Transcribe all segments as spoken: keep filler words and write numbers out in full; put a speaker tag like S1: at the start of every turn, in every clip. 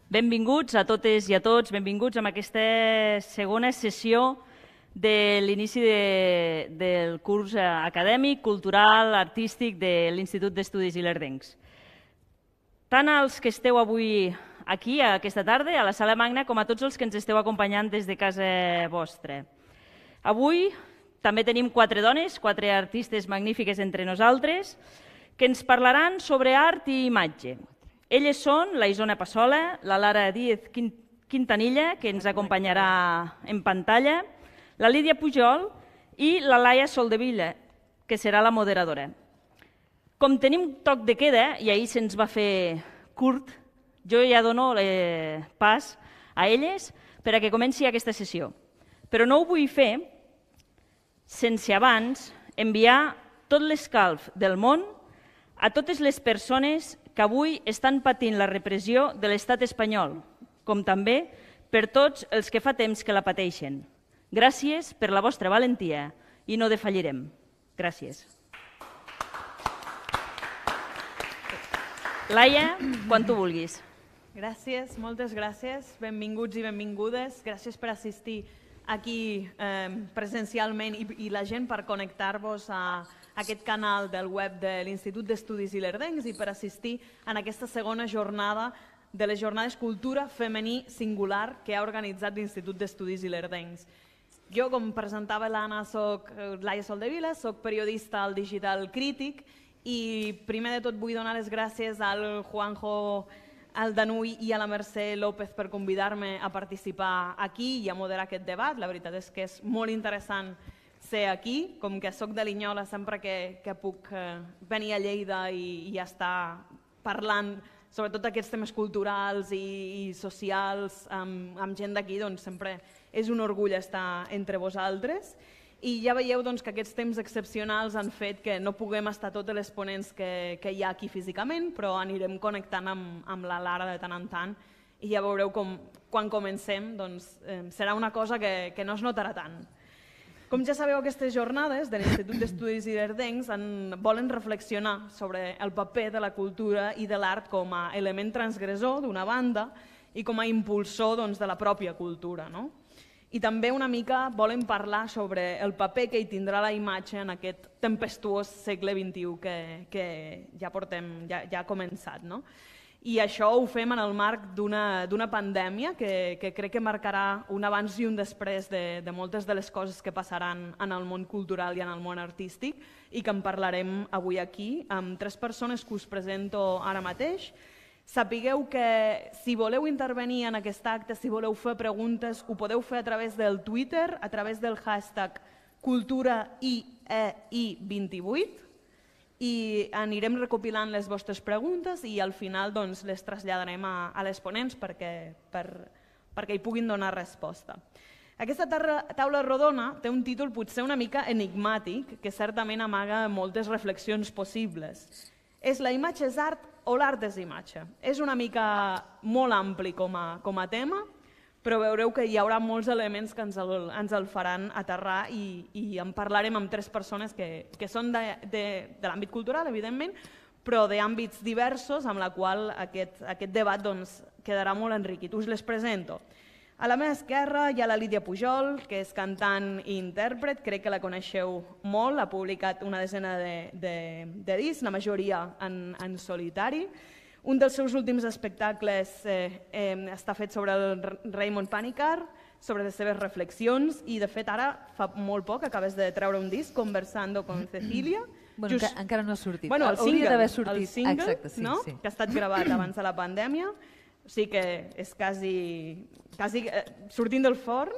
S1: Benvinguts a totes i a tots, benvinguts a aquesta segona sessió de l'inici de, del curs acadèmic, cultural, artístic de l'Institut d'Estudis Ilerdencs. Tant als que esteu avui aquí, aquesta tarda, a la Sala Magna, com a tots els que ens esteu acompanyant des de casa vostra. Avui també tenim quatre dones, quatre artistes magnífiques entre nosaltres, que ens parlaran sobre art i imatge. Elles són la Isona Passola, la Lara Díez Quintanilla, que ens acompanyarà en pantalla, la Lídia Pujol i la Laia Soldevila, que serà la moderadora. Com tenim toc de queda, i ahir se'ns va fer curt, jo ja dono pas a elles per a que comenci aquesta sessió. Però no ho vull fer sense abans enviar tot l'escalf del món a totes les persones que avui estan patint la repressió de l'estat espanyol, com també per tots els que fa temps que la pateixen. Gràcies per la vostra valentia i no defallirem. Gràcies. Laia, quan tu vulguis.
S2: Gràcies, moltes gràcies. Benvinguts i benvingudes. Gràcies per assistir aquí eh, presencialment i, i la gent per connectar-vos a aquest canal del web de l'Institut d'Estudis Ilerdencs i per assistir en aquesta segona jornada de les jornades Cultura Femení Singular que ha organitzat l'Institut d'Estudis Ilerdencs. Jo, com presentava l'Anna, soc Laia Soldevila, soc periodista al Digital Crític i primer de tot vull donar les gràcies al Juanjo, al Danuy i a la Mercè López per convidar-me a participar aquí i a moderar aquest debat. La veritat és que és molt interessant ser aquí, com que soc de Linyola, sempre que, que puc eh, venir a Lleida i, i estar parlant sobretot d'aquests temes culturals i, i socials amb, amb gent d'aquí, doncs sempre és un orgull estar entre vosaltres. I ja veieu doncs, que aquests temps excepcionals han fet que no puguem estar totes les ponents que, que hi ha aquí físicament, però anirem connectant amb, amb la Lara de tant en tant i ja veureu com quan comencem doncs, eh, serà una cosa que, que no es notarà tant. Com ja sabeu, aquestes jornades de l'Institut d'Estudis Ilerdencs volen reflexionar sobre el paper de la cultura i de l'art com a element transgressor d'una banda i com a impulsor doncs, de la pròpia cultura. No? I també una mica volen parlar sobre el paper que hi tindrà la imatge en aquest tempestuós segle vint-i-u que, que ja, portem, ja, ja ha començat. No? I això ho fem en el marc d'una pandèmia que, que crec que marcarà un abans i un després de, de moltes de les coses que passaran en el món cultural i en el món artístic i que en parlarem avui aquí amb tres persones que us presento ara mateix. Sapigueu que si voleu intervenir en aquest acte, si voleu fer preguntes, ho podeu fer a través del Twitter, a través del hashtag cultura i e i vint-i-vuit, i anirem recopilant les vostres preguntes i al final doncs, les traslladarem a, a les ponents perquè, per, perquè hi puguin donar resposta. Aquesta taula rodona té un títol potser una mica enigmàtic que certament amaga moltes reflexions possibles. És la imatge és art o l'art és imatge? És una mica molt ampli com a, com a tema, però veureu que hi haurà molts elements que ens el, ens el faran aterrar i, i en parlarem amb tres persones que, que són de, de, de l'àmbit cultural, evidentment, però d'àmbits diversos amb la qual aquest, aquest debat doncs, quedarà molt enriquit. Us les presento. A la meva esquerra hi ha la Lídia Pujol, que és cantant i intèrpret, crec que la coneixeu molt, ha publicat una desena de, de, de discs, la majoria en, en solitari. Un dels seus últims espectacles eh, eh, està fet sobre el Raymond Panikkar, sobre les seves reflexions i de fet ara fa molt poc acabes de treure un disc, Conversando con Cecilia.
S3: Bueno, Just... encara, encara no ha sortit.
S2: Bueno, el
S3: Hauria d'haver
S2: single,
S3: sortit.
S2: el single
S3: Exacte, sí,
S2: no?
S3: sí.
S2: que ha estat gravat abans de la pandèmia, o sigui que és quasi, quasi eh, sortint del forn.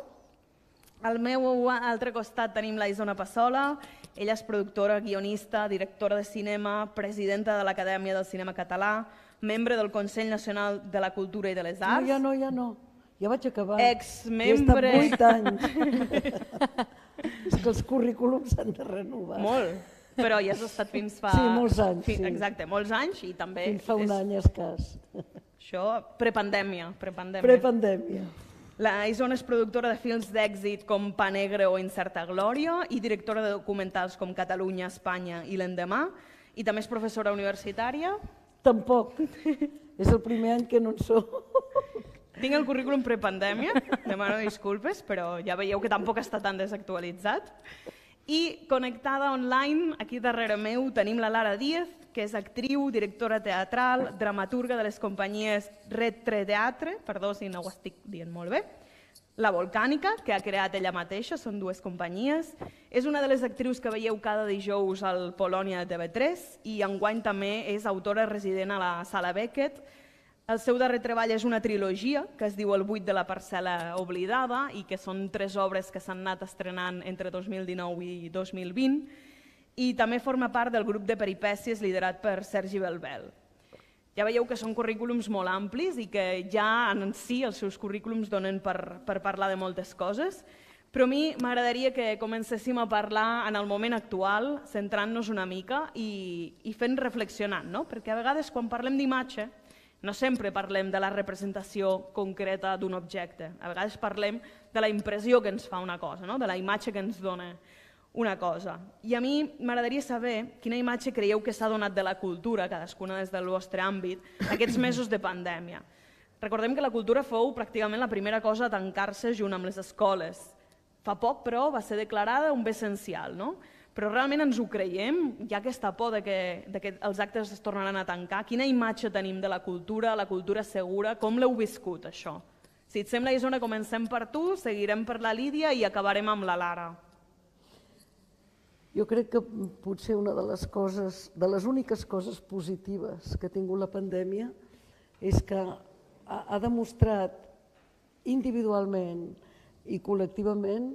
S2: Al meu altre costat tenim la Isona Passola, ella és productora, guionista, directora de cinema, presidenta de l'Acadèmia del Cinema Català, membre del Consell Nacional de la Cultura i de les Arts.
S4: No, ja no, ja no. Ja vaig acabar.
S2: Exmembre...
S4: He estat vuit anys. És que els currículums s'han de renovar.
S2: Molt, però ja has estat fins fa...
S4: Sí, molts anys,
S2: fins,
S4: sí.
S2: Exacte, molts anys i també...
S4: Fins fa un
S2: és...
S4: any escàs.
S2: Això, prepandèmia. Prepandèmia.
S4: Prepandèmia.
S2: La Isona és productora de films d'èxit com Pa Negre o Incerta Glòria i directora de documentals com Catalunya, Espanya i l'Endemà i també és professora universitària.
S4: Tampoc. És el primer any que no en sóc.
S2: Tinc el currículum prepandèmia, demano disculpes, però ja veieu que tampoc està tan desactualitzat. I connectada online, aquí darrere meu, tenim la Lara Díez, que és actriu, directora teatral, dramaturga de les companyies Red tres Teatre, perdó si no ho estic dient molt bé, La Volcànica, que ha creat ella mateixa, són dues companyies. És una de les actrius que veieu cada dijous al Polònia de T V tres i enguany també és autora resident a la Sala Beckett. El seu darrer treball és una trilogia que es diu El buit de la parcel·la oblidada i que són tres obres que s'han anat estrenant entre dos mil dinou i dos mil vint i també forma part del grup de peripècies liderat per Sergi Belbel. Ja veieu que són currículums molt amplis i que ja en si els seus currículums donen per, per parlar de moltes coses, però a mi m'agradaria que comencéssim a parlar en el moment actual, centrant-nos una mica i, i fent reflexionant, no? Perquè a vegades quan parlem d'imatge no sempre parlem de la representació concreta d'un objecte, a vegades parlem de la impressió que ens fa una cosa, no? De la imatge que ens dona una cosa. I a mi m'agradaria saber quina imatge creieu que s'ha donat de la cultura, cadascuna des del vostre àmbit, aquests mesos de pandèmia. Recordem que la cultura fou pràcticament la primera cosa a tancar-se junt amb les escoles. Fa poc, però, va ser declarada un bé essencial, no? Però realment ens ho creiem? Hi ha aquesta por de que, de que els actes es tornaran a tancar? Quina imatge tenim de la cultura, la cultura segura? Com l'heu viscut, això? Si et sembla, Isona, comencem per tu, seguirem per la Lídia i acabarem amb la Lara.
S4: Jo crec que potser una de les coses, de les úniques coses positives que ha tingut la pandèmia és que ha, ha demostrat individualment i col·lectivament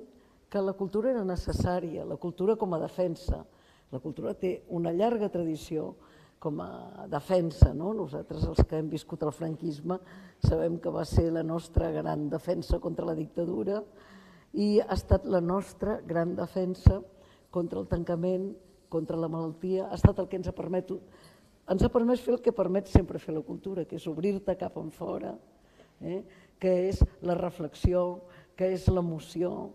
S4: que la cultura era necessària, la cultura com a defensa. La cultura té una llarga tradició com a defensa, no? Nosaltres, els que hem viscut el franquisme, sabem que va ser la nostra gran defensa contra la dictadura i ha estat la nostra gran defensa contra el tancament, contra la malaltia, ha estat el que ens ha permès, ens ha permès fer el que permet sempre fer la cultura, que és obrir-te cap enfora, eh? Que és la reflexió, que és l'emoció,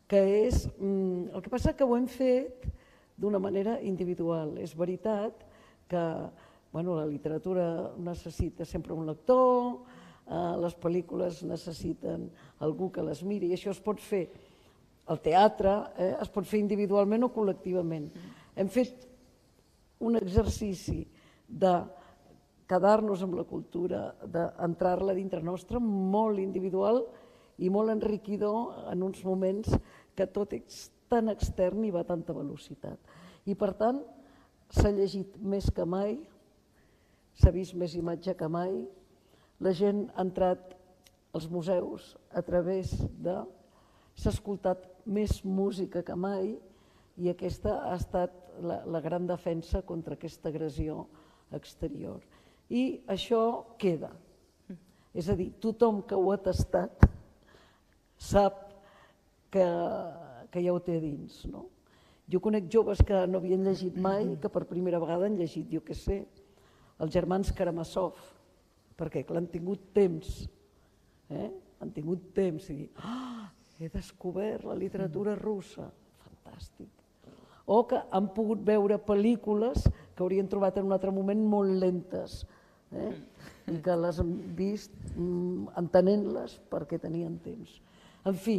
S4: que és... El que passa que ho hem fet d'una manera individual. És veritat que la literatura necessita sempre un lector, les pel·lícules necessiten algú que les miri, i això es pot fer. El teatre es pot fer individualment o col·lectivament. Hem fet un exercici de quedar-nos amb la cultura, d'entrar-la dintre nostra, molt individual i molt enriquidor en uns moments que tot és tan extern i va a tanta velocitat. I per tant, s'ha llegit més que mai, s'ha vist més imatge que mai, la gent ha entrat als museus a través de... s'ha escoltat més música que mai i aquesta ha estat la, la gran defensa contra aquesta agressió exterior. I això queda. És a dir, tothom que ho ha tastat sap que, que ja ho té a dins. No? Jo conec joves que no havien llegit mai, que per primera vegada han llegit, jo què sé, els germans Karamazov, perquè clar, han tingut temps, eh? han tingut temps i dir, ah, he descobert la literatura russa, fantàstic. O que han pogut veure pel·lícules que haurien trobat en un altre moment molt lentes, eh? i que les han vist mm, entenent-les perquè tenien temps. En fi,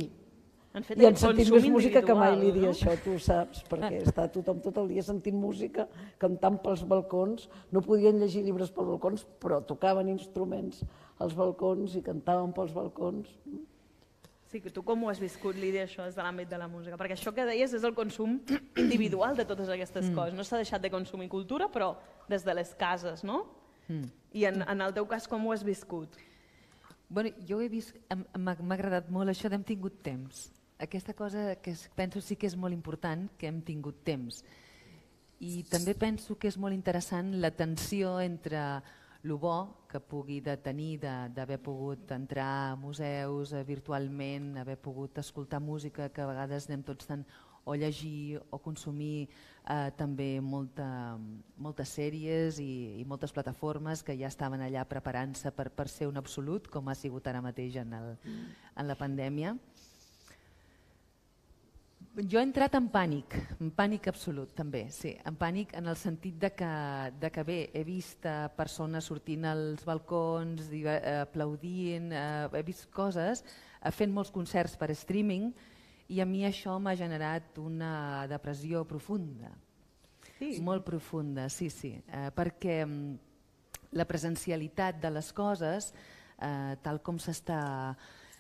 S4: i han sentit més música que mai, Lídia, això tu ho saps, perquè està tothom tot el dia sentint música, cantant pels balcons, no podien llegir llibres pels balcons, però tocaven instruments als balcons i cantaven pels balcons.
S2: Sí, que tu com ho has viscut, Lídia, això des de l'àmbit de la música? Perquè això que deies és el consum individual de totes aquestes coses. No s'ha deixat de consumir cultura, però des de les cases, no? I en el teu cas, com ho has viscut?
S3: Bueno, jo he vist, m'ha agradat molt això d'hem tingut temps. Aquesta cosa que penso sí que és molt important, que hem tingut temps. I també penso que és molt interessant la tensió entre el bo que pugui de tenir d'haver pogut entrar a museus virtualment, haver pogut escoltar música, que a vegades anem tots tant o llegir o consumir eh, també molta, moltes sèries i, i moltes plataformes que ja estaven allà preparant-se per, per ser un absolut, com ha sigut ara mateix en, el, en la pandèmia. Jo he entrat en pànic, en pànic absolut també, sí, en pànic en el sentit de que, de que bé, he vist eh, persones sortint als balcons, eh, aplaudint, eh, he vist coses, eh, fent molts concerts per streaming i a mi això m'ha generat una depressió profunda,
S2: Sí.
S3: molt profunda, sí, sí, eh, perquè mm, la presencialitat de les coses, eh, tal com s'està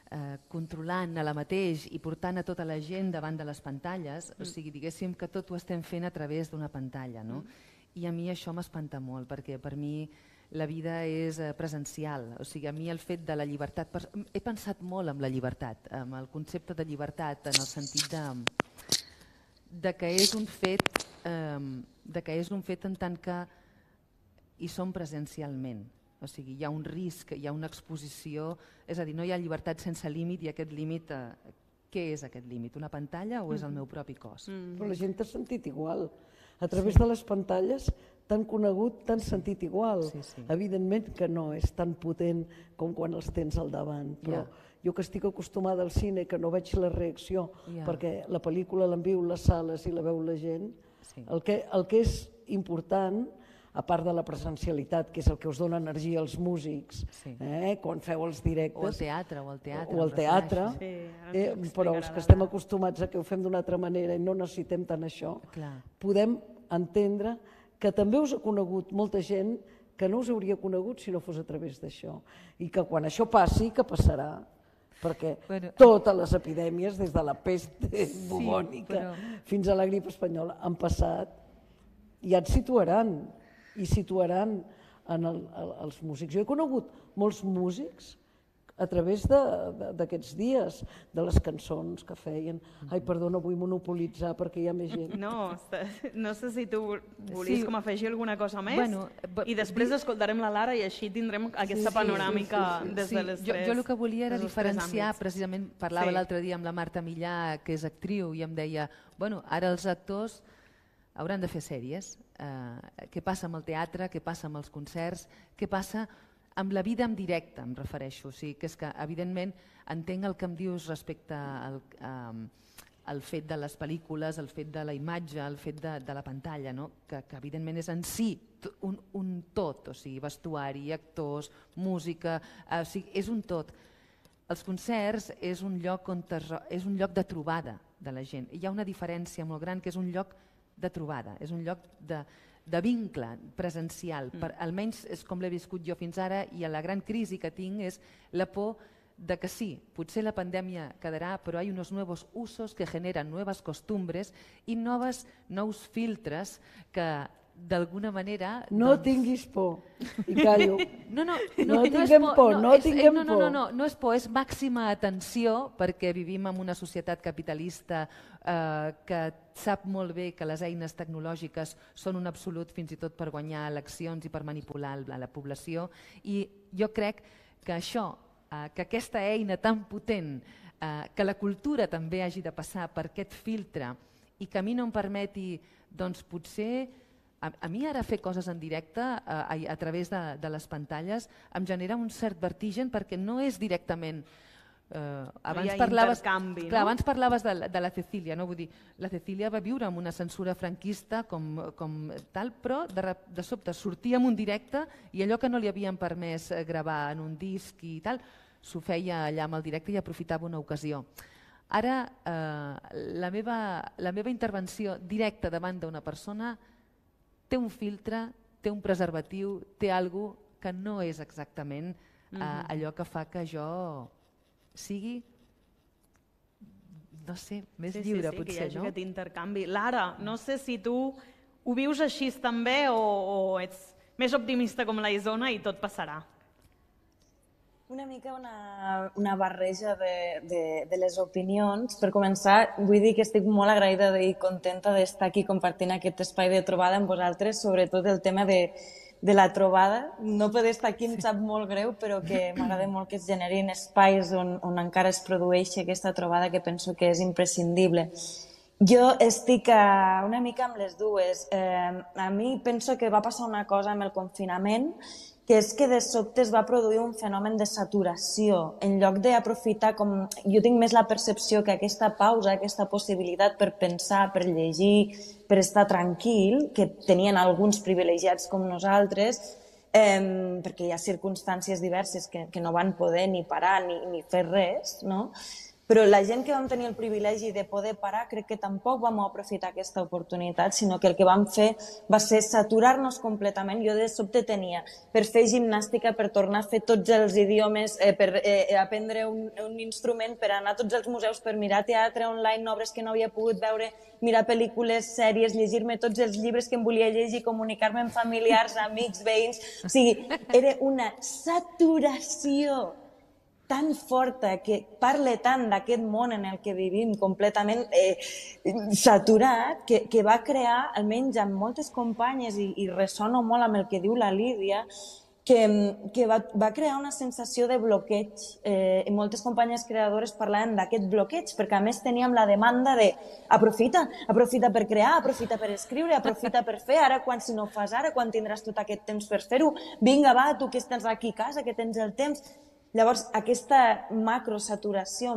S3: Eh, controlant a la mateix i portant a tota la gent davant de les pantalles, mm. o sigui, diguéssim que tot ho estem fent a través d'una pantalla, no? Mm. I a mi això m'espanta molt, perquè per mi la vida és eh, presencial, o sigui, a mi el fet de la llibertat... Per... He pensat molt en la llibertat, amb el concepte de llibertat, en el sentit de, de que és un fet, eh, de que és un fet en tant que hi som presencialment. O sigui, hi ha un risc, hi ha una exposició, és a dir, no hi ha llibertat sense límit i aquest límit, eh, què és aquest límit? Una pantalla o és el meu propi cos?
S4: Mm. Però la gent t'ha sentit igual. A través sí. de les pantalles t'han conegut, t'han sentit igual.
S3: Sí, sí.
S4: Evidentment que no és tan potent com quan els tens al davant, però yeah. jo que estic acostumada al cine, que no veig la reacció, yeah. perquè la pel·lícula l'envio les sales i la veu la gent, sí. el, que, el que és important, a part de la presencialitat, que és el que us dona energia als músics, sí. eh, quan feu els directes.
S3: O al teatre, o al teatre.
S4: O al teatre,
S2: sí,
S4: eh, però els que estem acostumats a que ho fem d'una altra manera i no necessitem tant això,
S3: Clar.
S4: podem entendre que també us ha conegut molta gent que no us hauria conegut si no fos a través d'això. I que quan això passi, que passarà, perquè bueno, totes les epidèmies, des de la pest bubònica sí, però... fins a la grip espanyola, han passat i ja et situaran. i situaran en el, el, els músics. Jo he conegut molts músics a través d'aquests dies, de les cançons que feien. Ai, perdona, vull monopolitzar perquè hi ha més gent.
S2: No, no sé si tu volies sí. com afegir alguna cosa més
S3: bueno,
S2: i després escoltarem la Lara i així tindrem aquesta
S3: sí,
S2: panoràmica
S3: sí, sí, sí.
S2: des de les
S3: jo,
S2: tres.
S3: Jo el que volia era diferenciar, precisament parlava sí. l'altre dia amb la Marta Millà, que és actriu, i em deia, bueno, ara els actors hauran de fer sèries. Eh, què passa amb el teatre, què passa amb els concerts, què passa amb la vida en directe, em refereixo. O sigui, que és que, evidentment, entenc el que em dius respecte al, eh, al fet de les pel·lícules, el fet de la imatge, el fet de, de la pantalla, no? que, que evidentment és en si un, un tot, o sigui, vestuari, actors, música, eh, o sigui, és un tot. Els concerts és un lloc on es, és un lloc de trobada de la gent. Hi ha una diferència molt gran, que és un lloc de trobada, és un lloc de, de vincle presencial, per, almenys és com l'he viscut jo fins ara, i la gran crisi que tinc és la por de que sí, potser la pandèmia quedarà, però hi ha uns nous usos que generen noves costumbres i noves, nous filtres que d'alguna manera...
S4: No doncs... tinguis por, i callo.
S3: No, no, no,
S4: no,
S3: no
S4: tinguem
S3: por,
S4: por,
S3: no,
S4: no
S3: és,
S4: tinguem
S3: no, no,
S4: por.
S3: No, no, no és por, és màxima atenció, perquè vivim en una societat capitalista eh, que sap molt bé que les eines tecnològiques són un absolut fins i tot per guanyar eleccions i per manipular la, la població, i jo crec que això, eh, que aquesta eina tan potent, eh, que la cultura també hagi de passar per aquest filtre i que a mi no em permeti, doncs potser... A, a mi ara fer coses en directe a, a, a través de, de les pantalles em genera un cert vertigen perquè no és directament... Eh, abans,
S2: no
S3: parlaves,
S2: clar,
S3: no? abans parlaves de, de la Cecília, no? Vull dir, la Cecília va viure amb una censura franquista com, com tal, però de, de sobte sortia en un directe i allò que no li havien permès gravar en un disc i tal, s'ho feia allà amb el directe i aprofitava una ocasió. Ara, eh, la, meva, la meva intervenció directa davant d'una persona té un filtre, té un preservatiu, té alguna cosa que no és exactament eh, mm-hmm. allò que fa que jo sigui, no sé, més
S2: sí,
S3: lliure
S2: sí, sí,
S3: potser,
S2: que hi hagi
S3: no?
S2: aquest intercanvi. Lara, no sé si tu ho vius així també o, o ets més optimista com la Isona i tot passarà.
S5: Una mica una, una barreja de, de, de les opinions. Per començar, vull dir que estic molt agraïda i contenta d'estar aquí compartint aquest espai de trobada amb vosaltres, sobretot el tema de, de la trobada. No poder estar aquí em sap molt greu, però que m'agrada molt que es generin espais on, on encara es produeixi aquesta trobada, que penso que és imprescindible. Jo estic a, una mica amb les dues. Eh, a mi penso que va passar una cosa amb el confinament que és que de sobte es va produir un fenomen de saturació. En lloc d'aprofitar, com jo tinc més la percepció que aquesta pausa, aquesta possibilitat per pensar, per llegir, per estar tranquil, que tenien alguns privilegiats com nosaltres, eh, perquè hi ha circumstàncies diverses que, que no van poder ni parar ni, ni fer res, no? Però la gent que vam tenir el privilegi de poder parar, crec que tampoc vam aprofitar aquesta oportunitat, sinó que el que vam fer va ser saturar-nos completament. Jo de sobte tenia per fer gimnàstica, per tornar a fer tots els idiomes, eh, per eh, aprendre un, un instrument, per anar a tots els museus, per mirar teatre online, obres que no havia pogut veure, mirar pel·lícules, sèries, llegir-me tots els llibres que em volia llegir, comunicar-me amb familiars, amics, veïns... O sigui, era una saturació tan forta, que parla tant d'aquest món en el que vivim completament eh, saturat, que, que va crear, almenys amb moltes companyes, i, i ressono molt amb el que diu la Lídia, que, que va, va crear una sensació de bloqueig. Eh, i moltes companyes creadores parlaven d'aquest bloqueig, perquè a més teníem la demanda de aprofita, aprofita per crear, aprofita per escriure, aprofita per fer, ara quan si no ho fas ara, quan tindràs tot aquest temps per fer-ho, vinga va, tu que estàs aquí a casa, que tens el temps... Llavors, aquesta macrosaturació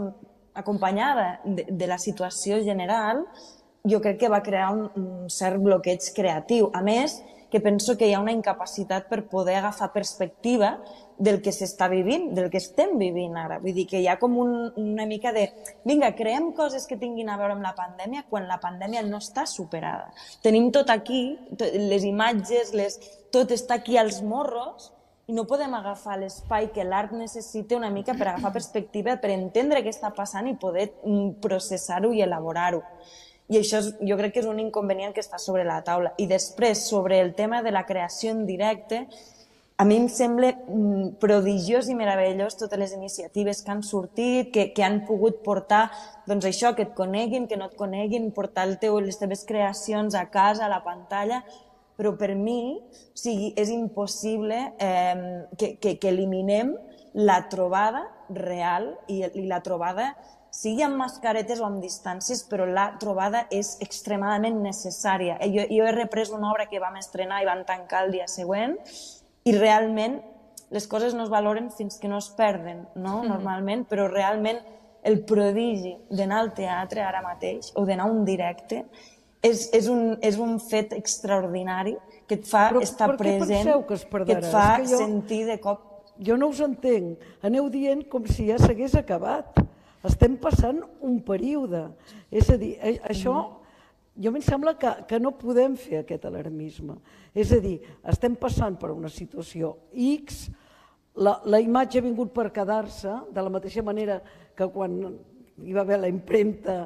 S5: acompanyada de, de la situació general, jo crec que va crear un, un cert bloqueig creatiu. A més, que penso que hi ha una incapacitat per poder agafar perspectiva del que s'està vivint, del que estem vivint ara. Vull dir que hi ha com un, una mica de... Vinga, creem coses que tinguin a veure amb la pandèmia quan la pandèmia no està superada. Tenim tot aquí, les imatges, les, tot està aquí als morros, i no podem agafar l'espai que l'art necessita una mica per agafar perspectiva, per entendre què està passant i poder processar-ho i elaborar-ho. I això és, jo crec que és un inconvenient que està sobre la taula. I després, sobre el tema de la creació en directe, a mi em sembla prodigiós i meravellós totes les iniciatives que han sortit, que, que han pogut portar doncs això, que et coneguin, que no et coneguin, portar el teu, les teves creacions a casa, a la pantalla... Però per mi o sigui, és impossible eh, que, que, que eliminem la trobada real i, i la trobada, sigui amb mascaretes o amb distàncies, però la trobada és extremadament necessària. Jo, jo he reprès una obra que vam estrenar i vam tancar el dia següent i realment les coses no es valoren fins que no es perden, no? Normalment, però realment el prodigi d'anar al teatre ara mateix o d'anar a un directe És, és, un, és un fet extraordinari que et fa però, estar present, que, que et fa que jo, sentir de cop...
S4: Jo no us entenc. Aneu dient com si ja s'hagués acabat. Estem passant un període. És a dir, això... Jo em sembla que, que no podem fer aquest alarmisme. És a dir, estem passant per una situació X, la, la imatge ha vingut per quedar-se, de la mateixa manera que quan hi va haver la impremta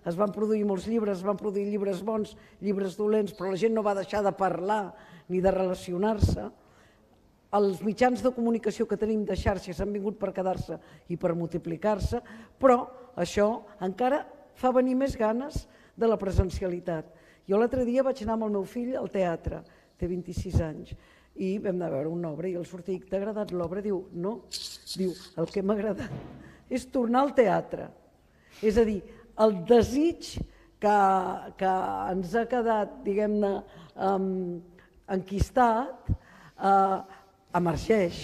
S4: es van produir molts llibres, es van produir llibres bons, llibres dolents, però la gent no va deixar de parlar ni de relacionar-se. Els mitjans de comunicació que tenim de xarxes han vingut per quedar-se i per multiplicar-se, però això encara fa venir més ganes de la presencialitat. Jo l'altre dia vaig anar amb el meu fill al teatre, té vint-i-sis anys, i vam anar a veure una obra i el sortir, t'ha agradat l'obra? Diu, no. Diu, el que m'ha agradat és tornar al teatre. És a dir, el desig que, que ens ha quedat, diguem-ne, um, enquistat, uh, emergeix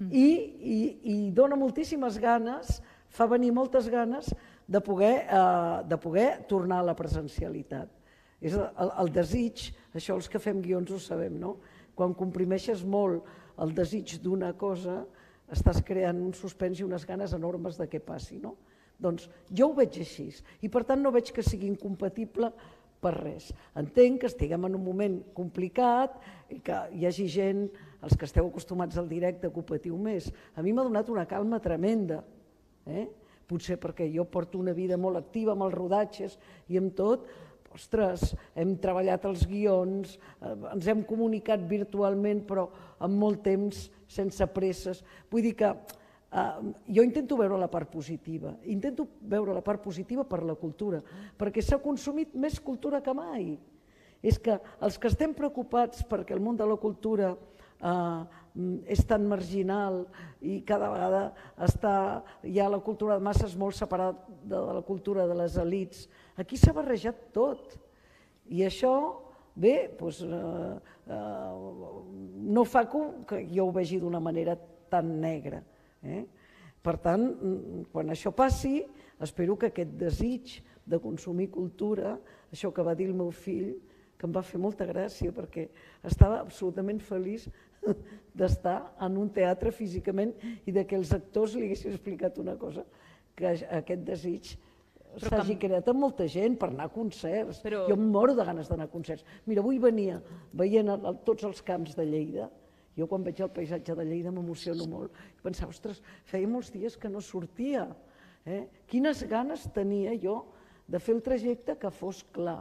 S4: i, i, i dona moltíssimes ganes, fa venir moltes ganes de poder, uh, de poder tornar a la presencialitat. És el, el desig, això els que fem guions ho sabem, no? Quan comprimeixes molt el desig d'una cosa, estàs creant un suspens i unes ganes enormes de què passi, no? Doncs jo ho veig així i per tant no veig que sigui incompatible per res. Entenc que estiguem en un moment complicat i que hi hagi gent, els que esteu acostumats al directe, que ho patiu més. A mi m'ha donat una calma tremenda, eh? Potser perquè jo porto una vida molt activa amb els rodatges i amb tot. Ostres, hem treballat els guions, ens hem comunicat virtualment però amb molt temps, sense presses. Vull dir que Uh, jo intento veure la part positiva, intento veure la part positiva per la cultura, perquè s'ha consumit més cultura que mai. És que els que estem preocupats perquè el món de la cultura uh, és tan marginal i cada vegada està, hi ha la cultura de masses molt separada de la cultura de les elits, aquí s'ha barrejat tot. I això bé, doncs, eh, eh, no fa que jo ho vegi d'una manera tan negra. Eh? Per tant, quan això passi, espero que aquest desig de consumir cultura, això que va dir el meu fill, que em va fer molta gràcia perquè estava absolutament feliç d'estar en un teatre físicament i que els actors li haguessin explicat una cosa, que aquest desig s'hagi creat amb molta gent per anar a concerts. Jo em moro de ganes d'anar a concerts. Mira, avui venia veient tots els camps de Lleida. Jo quan veig el paisatge de Lleida m'emociono molt. I pensava, ostres, feia molts dies que no sortia. Quines ganes tenia jo de fer el trajecte que fos clar.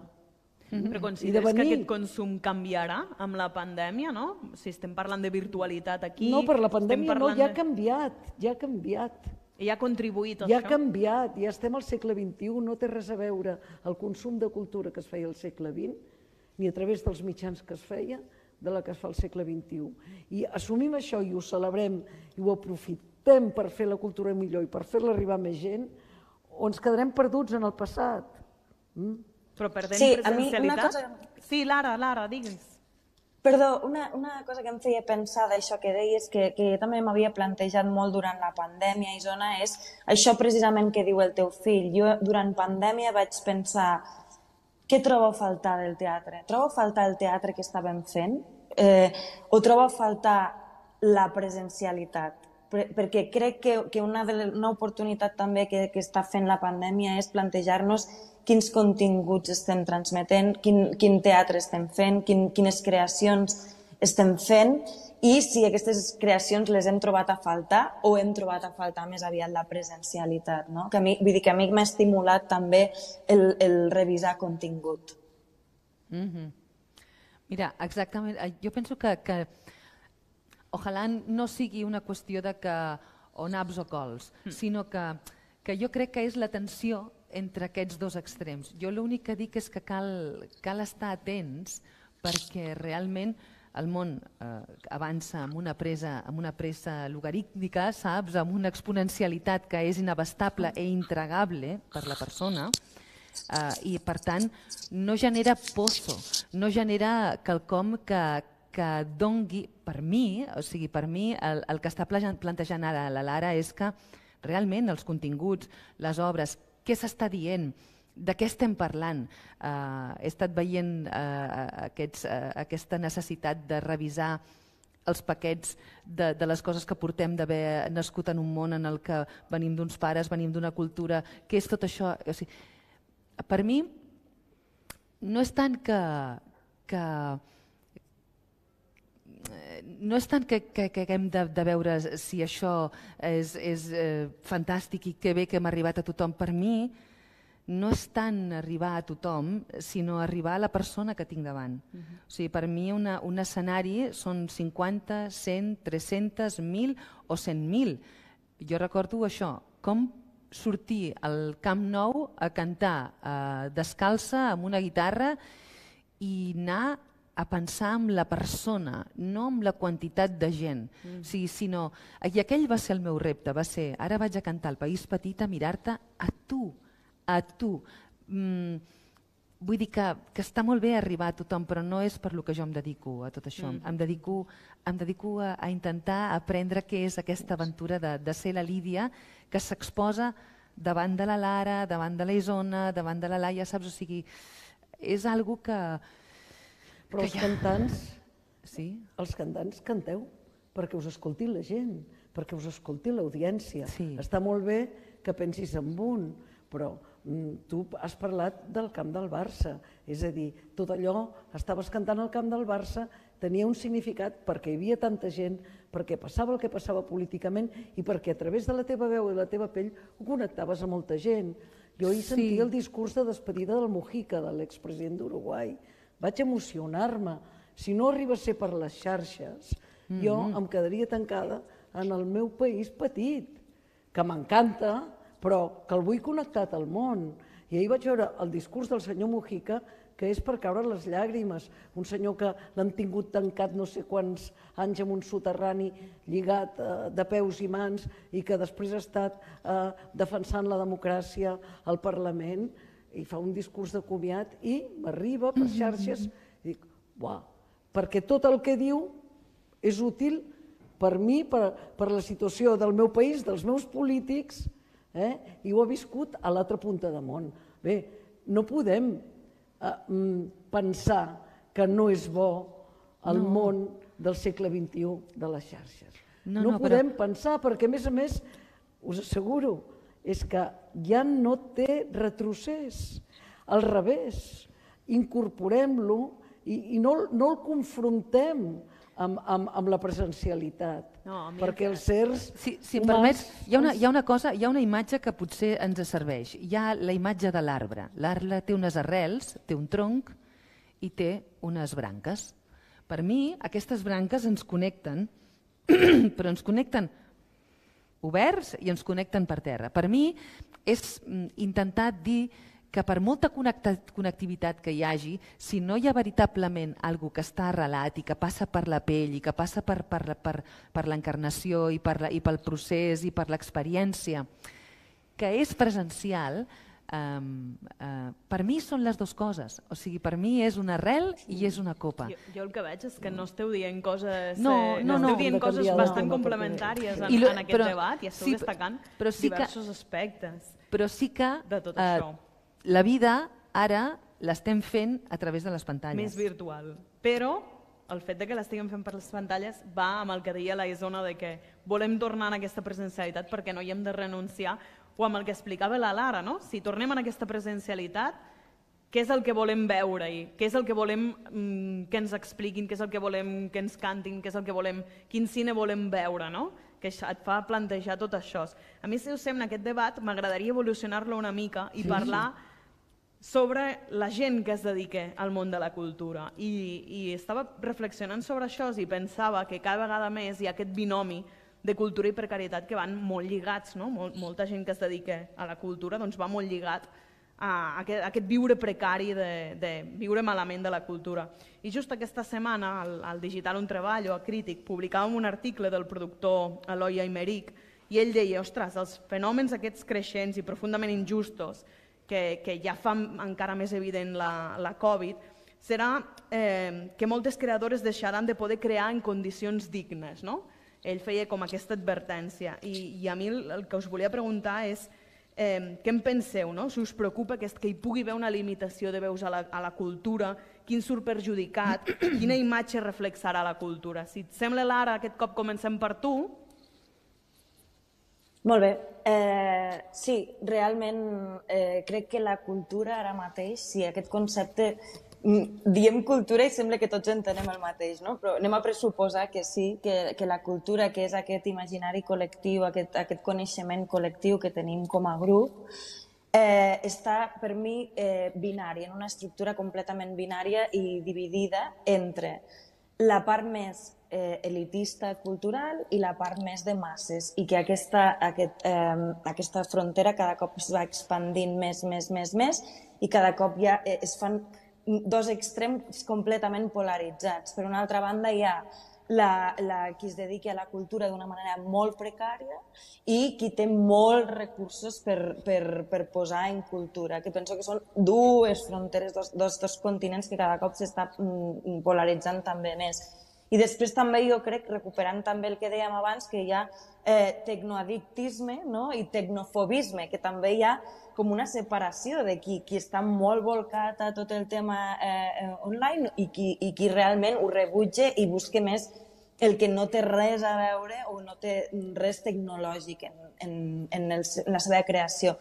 S2: Però consideres que aquest consum canviarà amb la pandèmia, no? Si estem parlant de virtualitat aquí...
S4: No, per la pandèmia no, ja ha canviat, ja ha canviat.
S2: I ha contribuït a
S4: això? Ja
S2: ha
S4: canviat, ja estem al segle vint-i-u, no té res a veure el consum de cultura que es feia al segle vint, ni a través dels mitjans que es feia, de la que es fa al segle vint-i-u. I assumim això i ho celebrem i ho aprofitem per fer la cultura millor i per fer-la arribar a més gent, o ens quedarem perduts en el passat.
S2: Però perdem presencialitat? Sí, Lara, Lara, digues.
S5: Perdó, una cosa que em feia pensar d'això que deies, que jo també m'havia plantejat molt durant la pandèmia, Isona, és això precisament que diu el teu fill. Jo durant pandèmia vaig pensar, què trobo a faltar del teatre? Trobo a faltar el teatre que estàvem fent? O trobo a faltar la presencialitat? Perquè crec que una oportunitat també que està fent la pandèmia és plantejar-nos quins continguts estem transmetent, quin teatre estem fent, quines creacions estem fent i si aquestes creacions les hem trobat a faltar o hem trobat a faltar més aviat la presencialitat. Vull dir que a mi m'ha estimulat també el revisar contingut.
S3: Mira, exactament, jo penso que ojalà no sigui una qüestió de que o naps o cols, sinó que jo crec que és la tensió entre aquests dos extrems. Jo l'únic que dic és que cal estar atents perquè realment el món avança amb una pressa logarítmica, saps? Amb una exponencialitat que és inabastable i intragable per la persona i, per tant, no genera pozo, no genera quelcom que dongui, per mi, o sigui, per mi, el que està plantejant ara la Lara és que realment els continguts, les obres, què s'està dient, de què estem parlant. He estat veient aquesta necessitat de revisar els paquets de les coses que portem d'haver nascut en un món en el que venim d'uns pares, venim d'una cultura, què és tot això? Per mi, no és tant que... no és tant que haguem de veure si això és fantàstic i que bé que hem arribat a tothom. Per mi no és tant arribar a tothom, sinó arribar a la persona que tinc davant. O sigui, per mi un escenari són cinquanta, cent, tres-cents, mil o cent mil. Jo recordo això, com sortir al Camp Nou a cantar descalça amb una guitarra i anar a pensar en la persona, no en la quantitat de gent. I aquell va ser el meu repte, va ser, ara vaig a cantar al País Petit a mirar-te a tu, a tu. Vull dir que està molt bé arribar a tothom, però no és per lo que jo em dedico a tot això. Em dedico a intentar aprendre què és aquesta aventura de ser la Lídia que s'exposa davant de la Lara, davant de la Isona, davant de la Laia, saps? O sigui, és algo que...
S4: Però els cantants, els cantants canteu perquè us escolti la gent, perquè us escolti l'audiència. Està molt bé que pensis en un, però tu has parlat del camp del Barça, és a dir, tot allò, estaves cantant al camp del Barça, tenia un significat perquè hi havia tanta gent, perquè passava el que passava políticament i perquè a través de la teva veu i la teva pell ho connectaves a molta gent. Jo hi sentia el discurs de despedida del Mujica, de l'expresident d'Uruguai. Vaig emocionar-me. Si no arriba a ser per les xarxes, jo em quedaria tancada en el meu país petit, que m'encanta, però que el vull connectat al món. I ahir vaig veure el discurs del senyor Mujica, que és per caure les llàgrimes. Un senyor que l'han tingut tancat no sé quants anys en un soterrani lligat de peus i mans i que després ha estat defensant la democràcia al Parlament i fa un discurs de comiat i m'arriba per xarxes Dic, uah, perquè tot el que diu és útil per mi, per, per la situació del meu país, dels meus polítics, eh? I ho he viscut a l'altra punta de món. Bé, no podem eh, pensar que no és bo el no. món del segle vint-i-u de les xarxes. No, no, no podem però... pensar, perquè a més a més, us asseguro, és que ja no té retrocés. Al revés, incorporem-lo i, i no, no el confrontem amb, amb, amb la presencialitat, no, perquè els certs
S3: si, si em permets, hi ha, una, hi ha una cosa, hi ha una imatge que potser ens serveix. Hi ha la imatge de l'arbre. L'arbre té unes arrels, té un tronc i té unes branques. Per mi, aquestes branques ens connecten, però ens connecten oberts i ens connecten per terra. Per mi és intentar dir que per molta connectivitat que hi hagi, si no hi ha veritablement alguna que està arrelat i que passa per la pell i que passa per, per, per, per l'encarnació i, per la, i pel procés i per l'experiència, que és presencial, Um, uh, per mi són les dues coses. O sigui, per mi és una arrel i és una copa.
S2: Jo, jo el que veig és que no esteu dient coses,
S3: no,
S2: eh,
S3: no,
S2: no,
S3: no.
S2: esteu dient coses bastant complementàries en,
S3: lo,
S2: en aquest
S3: però,
S2: debat i esteu
S3: sí,
S2: destacant
S3: però sí
S2: diversos
S3: que,
S2: aspectes
S3: però sí que,
S2: de tot
S3: uh,
S2: això.
S3: La vida ara l'estem fent a través de les pantalles.
S2: Més virtual. Però el fet de que l'estiguem fent per les pantalles va amb el que deia la Isona de que volem tornar a aquesta presencialitat perquè no hi hem de renunciar, o amb el que explicava la Lara, no? Si tornem a aquesta presencialitat, què és el que volem veure-hi? Què és el que volem mm, que ens expliquin? Què és el que volem que ens cantin? Què és el que volem, quin cine volem veure, no? Que et fa plantejar tot això. A mi, si us sembla, aquest debat m'agradaria evolucionar-lo una mica i sí. parlar sobre la gent que es dedica al món de la cultura. I, i estava reflexionant sobre això i pensava que cada vegada més hi ha aquest binomi de cultura i precarietat que van molt lligats, no? Mol, molta gent que es dedica a la cultura doncs va molt lligat a aquest, a aquest viure precari de, de viure malament de la cultura. I just aquesta setmana al, al Digital on treballo, a Crític, publicàvem un article del productor Eloi Aymeric i ell deia, ostres, els fenòmens aquests creixents i profundament injustos que, que ja fan encara més evident la, la Covid serà eh, que moltes creadores deixaran de poder crear en condicions dignes, no? Ell feia com aquesta advertència i, i a mi el, el que us volia preguntar és eh, què en penseu, no? Si us preocupa que, que hi pugui haver una limitació de veus a la, a la cultura, quin surt perjudicat, quina imatge reflexarà la cultura. Si et sembla, Lara, aquest cop comencem per tu.
S5: Molt bé. Eh, sí, realment eh, crec que la cultura ara mateix, si aquest concepte diem cultura i sembla que tots entenem el mateix, no? Però anem a pressuposar que sí, que, que la cultura, que és aquest imaginari col·lectiu, aquest, aquest coneixement col·lectiu que tenim com a grup, eh, està per mi eh, binària, en una estructura completament binària i dividida entre la part més eh, elitista cultural i la part més de masses, i que aquesta, aquest, eh, aquesta frontera cada cop es va expandint més, més, més, més, i cada cop ja eh, es fan dos extrems completament polaritzats. Per una altra banda hi ha la, la, qui es dedica a la cultura d'una manera molt precària i qui té molts recursos per, per, per posar en cultura, que penso que són dues fronteres, dos, dos, dos continents que cada cop s'està polaritzant també més. I després també jo crec, recuperant també el que dèiem abans, que hi ha eh, tecnoaddictisme, no? I tecnofobisme, que també hi ha com una separació de qui, qui està molt volcat a tot el tema eh, online i qui, i qui realment ho rebutja i busca més el que no té res a veure o no té res tecnològic en, en, en, el, en la seva creació.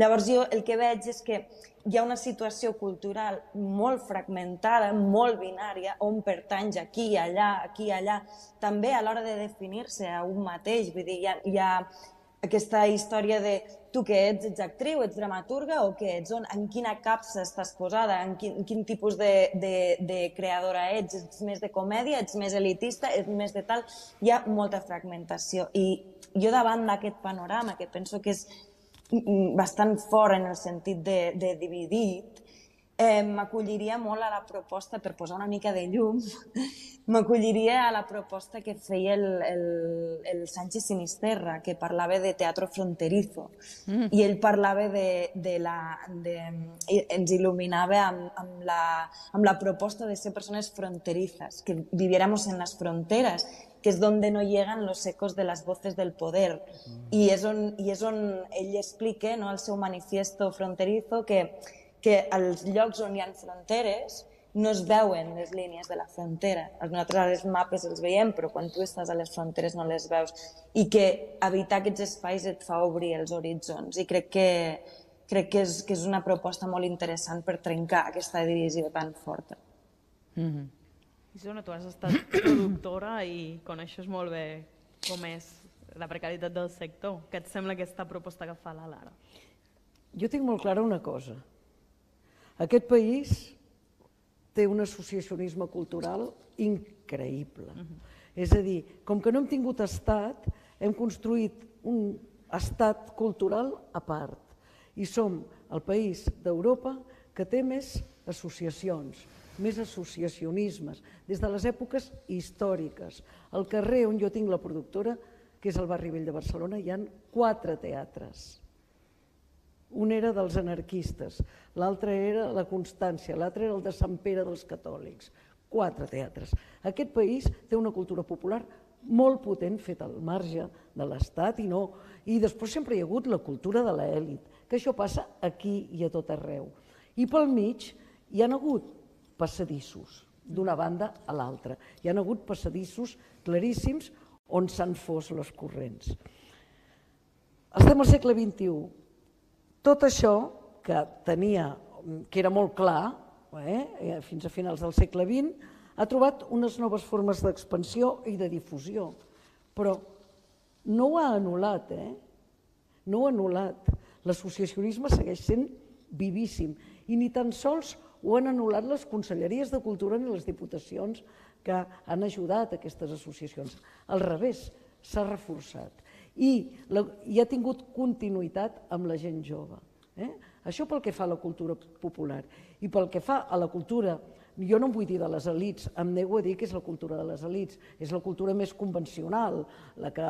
S5: Llavors jo el que veig és que hi ha una situació cultural molt fragmentada, molt binària, on pertanys aquí i allà, aquí i allà, també a l'hora de definir-se a un mateix. Vull dir, hi ha, hi ha aquesta història de tu que ets, ets actriu, ets dramaturga o què ets, on, en quina capsa estàs posada, en quin, en quin tipus de, de, de creadora ets, ets més de comèdia, ets més elitista, ets més de tal... Hi ha molta fragmentació i jo davant d'aquest panorama, que penso que és bastant fort en el sentit de, de dividit, Eh, m'acolliria molt a la proposta, per posar una mica de llum, m'acolliria a la proposta que feia el, el, el Sánchez Sinisterra, que parlava de teatro fronterizo. Mm. I ell parlava de, de la... De, ens il·luminava amb, amb, la, amb la proposta de ser persones fronterizas, que viviéramos en las fronteras, que és donde no llegan los ecos de las voces del poder. Mm. I, és on, I és on ell explica, no, el seu manifiesto fronterizo, que que als llocs on hi ha fronteres no es veuen les línies de la frontera. Nosaltres als mapes els veiem, però quan tu estàs a les fronteres no les veus. I que habitar aquests espais et fa obrir els horitzons. I crec que, crec que, és, que és una proposta molt interessant per trencar aquesta divisió tan forta.
S2: Mm-hmm. Isona, tu has estat productora i coneixes molt bé com és la precarietat del sector. Què et sembla aquesta proposta que fa la Lara?
S4: Jo tinc molt clara una cosa. Aquest país té un associacionisme cultural increïble. Uh-huh. És a dir, com que no hem tingut estat, hem construït un estat cultural a part. I som el país d'Europa que té més associacions, més associacionismes, des de les èpoques històriques. Al carrer on jo tinc la productora, que és el Barri Vell de Barcelona, hi ha quatre teatres. Un era dels anarquistes, l'altre era la Constància, l'altre era el de Sant Pere dels catòlics. Quatre teatres. Aquest país té una cultura popular molt potent, feta al marge de l'Estat, i no. I després sempre hi ha hagut la cultura de l'elit, que això passa aquí i a tot arreu. I pel mig hi ha hagut passadissos, d'una banda a l'altra. Hi ha hagut passadissos claríssims on s'han fos les corrents. Estem al segle vint-i-u. Tot això, que tenia, que era molt clar, eh, fins a finals del segle vint, ha trobat unes noves formes d'expansió i de difusió. Però no ho ha anul·lat, eh? No ho ha anul·lat. L'associacionisme segueix sent vivíssim i ni tan sols ho han anul·lat les conselleries de cultura ni les diputacions que han ajudat aquestes associacions. Al revés, s'ha reforçat. I, la, i ha tingut continuïtat amb la gent jove. Eh? Això pel que fa a la cultura popular. I pel que fa a la cultura, jo no em vull dir de les elits, em nego a dir que és la cultura de les elits, és la cultura més convencional, la que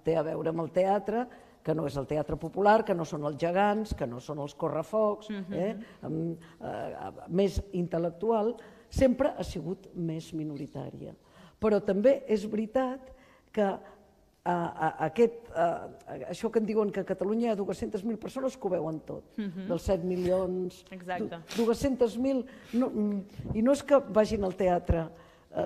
S4: té a veure amb el teatre, que no és el teatre popular, que no són els gegants, que no són els correfocs, eh? amb, eh, més intel·lectual, sempre ha sigut més minoritària. Però també és veritat que Aquest, això que en diuen que a Catalunya hi ha dues-centes mil persones que ho veuen tot, dels set milions, dues-centes mil, i no és que vagin al teatre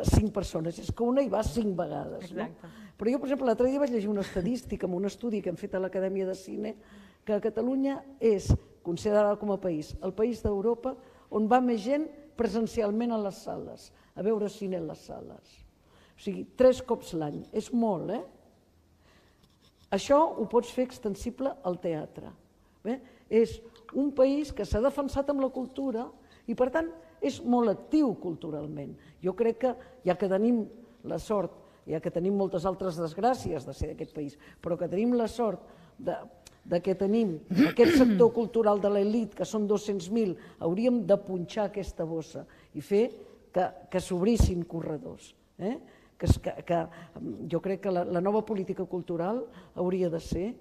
S4: cinc persones, és que una hi va cinc vegades. Però jo, per exemple, l'altre dia vaig llegir una estadística en un estudi que hem fet a l'Acadèmia de Cine, que Catalunya és considerada com a país, el país d'Europa on va més gent presencialment a les sales, a veure cine a les sales. O sigui, tres cops l'any, és molt, eh? Això ho pots fer extensible al teatre. És un país que s'ha defensat amb la cultura i, per tant, és molt actiu culturalment. Jo crec que, ja que tenim la sort, ja que tenim moltes altres desgràcies de ser d'aquest país, però que tenim la sort de que tenim aquest sector cultural de l'elit, que són dos-cents mil, hauríem de punxar aquesta bossa i fer que s'obrissin corredors. Que, que jo crec que la, la nova política cultural hauria de ser,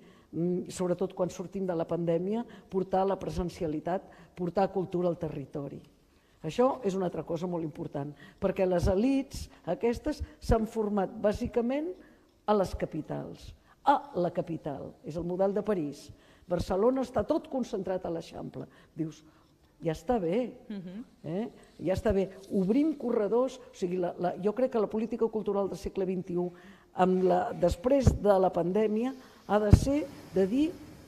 S4: sobretot quan sortim de la pandèmia, portar la presencialitat, portar cultura al territori. Això és una altra cosa molt important, perquè les elits aquestes s'han format bàsicament a les capitals, a la capital, és el model de París. Barcelona està tot concentrat a l'Eixample. Dius, ja està bé, ja està bé. Obrim corredors, o sigui, jo crec que la política cultural del segle vint-i-u, després de la pandèmia, ha de ser de dir,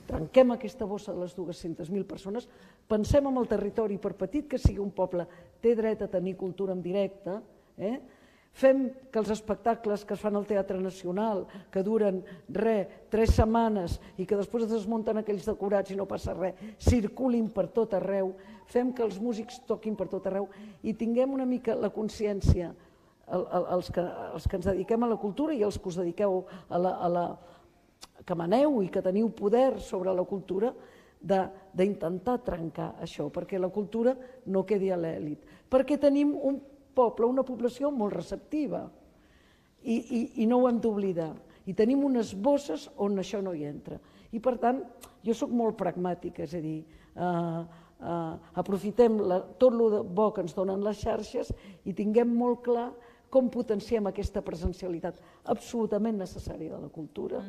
S4: trenquem aquesta bossa de les dues-centes mil persones, pensem en el territori, per petit que sigui un poble, té dret a tenir cultura en directe, fem que els espectacles que es fan al Teatre Nacional, que duren res, tres setmanes i que després es desmunten aquells decorats i no passa res, circulin per tot arreu, fem que els músics toquin per tot arreu i tinguem una mica la consciència, els que ens dediquem a la cultura i els que us dediqueu a la... que maneu i que teniu poder sobre la cultura, d'intentar trencar això, perquè la cultura no quedi a l'èlit, perquè tenim un poble, una població molt receptiva i, i, i no ho hem d'oblidar. I tenim unes bosses on això no hi entra. I per tant, jo sóc molt pragmàtica, és a dir, eh, eh, aprofitem la, tot el bo que ens donen les xarxes i tinguem molt clar com potenciem aquesta presencialitat absolutament necessària de la cultura,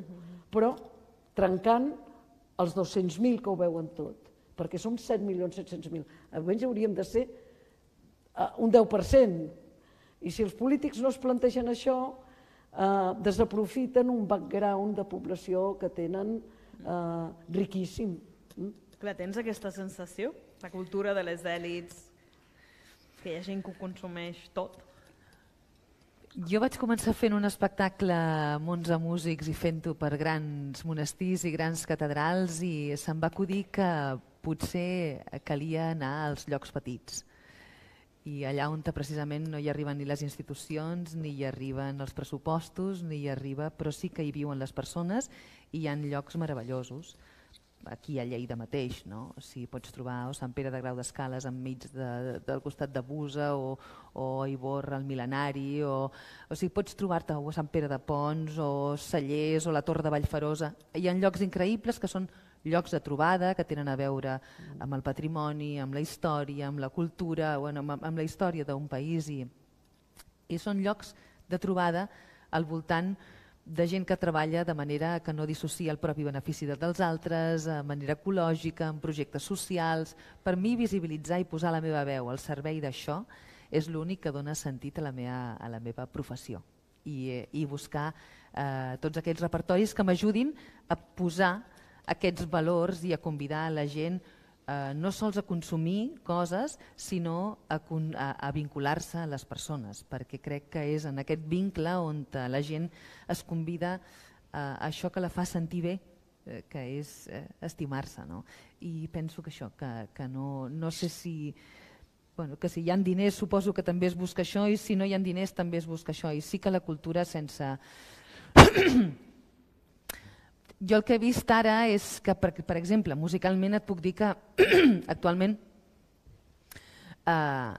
S4: però trencant els dos-cents mil que ho veuen tot, perquè som set milions set-cents mil. Almenys hauríem de ser un deu per cent. I si els polítics no es plantegen això, eh, desaprofiten un background de població que tenen eh, riquíssim.
S2: Clar, tens aquesta sensació? La cultura de les èlits, que hi ha gent que ho consumeix tot?
S3: Jo vaig començar fent un espectacle amb onze músics i fent-ho per grans monestirs i grans catedrals i se'm va acudir que potser calia anar als llocs petits. I allà on precisament no hi arriben ni les institucions, ni hi arriben els pressupostos, ni hi arriba, però sí que hi viuen les persones i hi ha llocs meravellosos. Aquí a Lleida mateix, no? O sigui, pots trobar o Sant Pere de Grau d'Escales enmig de, del costat de Busa o, o Ivorra, el Mil·lenari, o, o sigui, pots trobar-te o Sant Pere de Pons o Cellers o la Torre de Vallferosa. Hi ha llocs increïbles que són llocs de trobada, que tenen a veure amb el patrimoni, amb la història, amb la cultura, bueno, amb, amb la història d'un país i, i són llocs de trobada al voltant de gent que treballa de manera que no dissocia el propi benefici dels altres, de manera ecològica, en projectes socials. Per mi, visibilitzar i posar la meva veu al servei d'això és l'únic que dona sentit a la meva, a la meva professió. I, i buscar eh, tots aquests repertoris que m'ajudin a posar aquests valors i a convidar la gent eh, no sols a consumir coses, sinó a, a, a vincular-se a les persones, perquè crec que és en aquest vincle on la gent es convida a això que la fa sentir bé, eh, que és eh, estimar-se. No? I penso que això, que, que no, no sé si... Bueno, que si hi ha diners suposo que també es busca això i si no hi ha diners també es busca això. I sí que la cultura sense... Jo el que he vist ara és que, per, per exemple, musicalment et puc dir que actualment eh,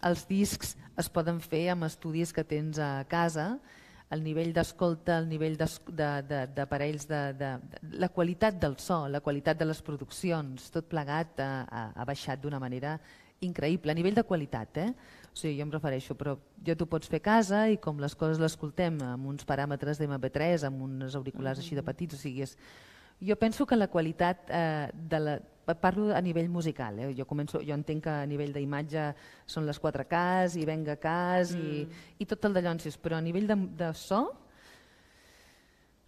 S3: els discs es poden fer amb estudis que tens a casa, el nivell d'escolta, el nivell d'aparells, de, de, de, de, la qualitat del so, la qualitat de les produccions, tot plegat ha, ha baixat d'una manera increïble, a nivell de qualitat, eh? O sigui, jo em refereixo, però ja t'ho pots fer a casa i com les coses l'escoltem amb uns paràmetres d'M P tres, amb uns auriculars així de petits, o sigui, és... jo penso que la qualitat, eh, de la... parlo a nivell musical, eh? jo, començo, jo entenc que a nivell d'imatge són les quatre Ks i venga Ks i, mm. i tot el d'allonsis, però a nivell de, de so,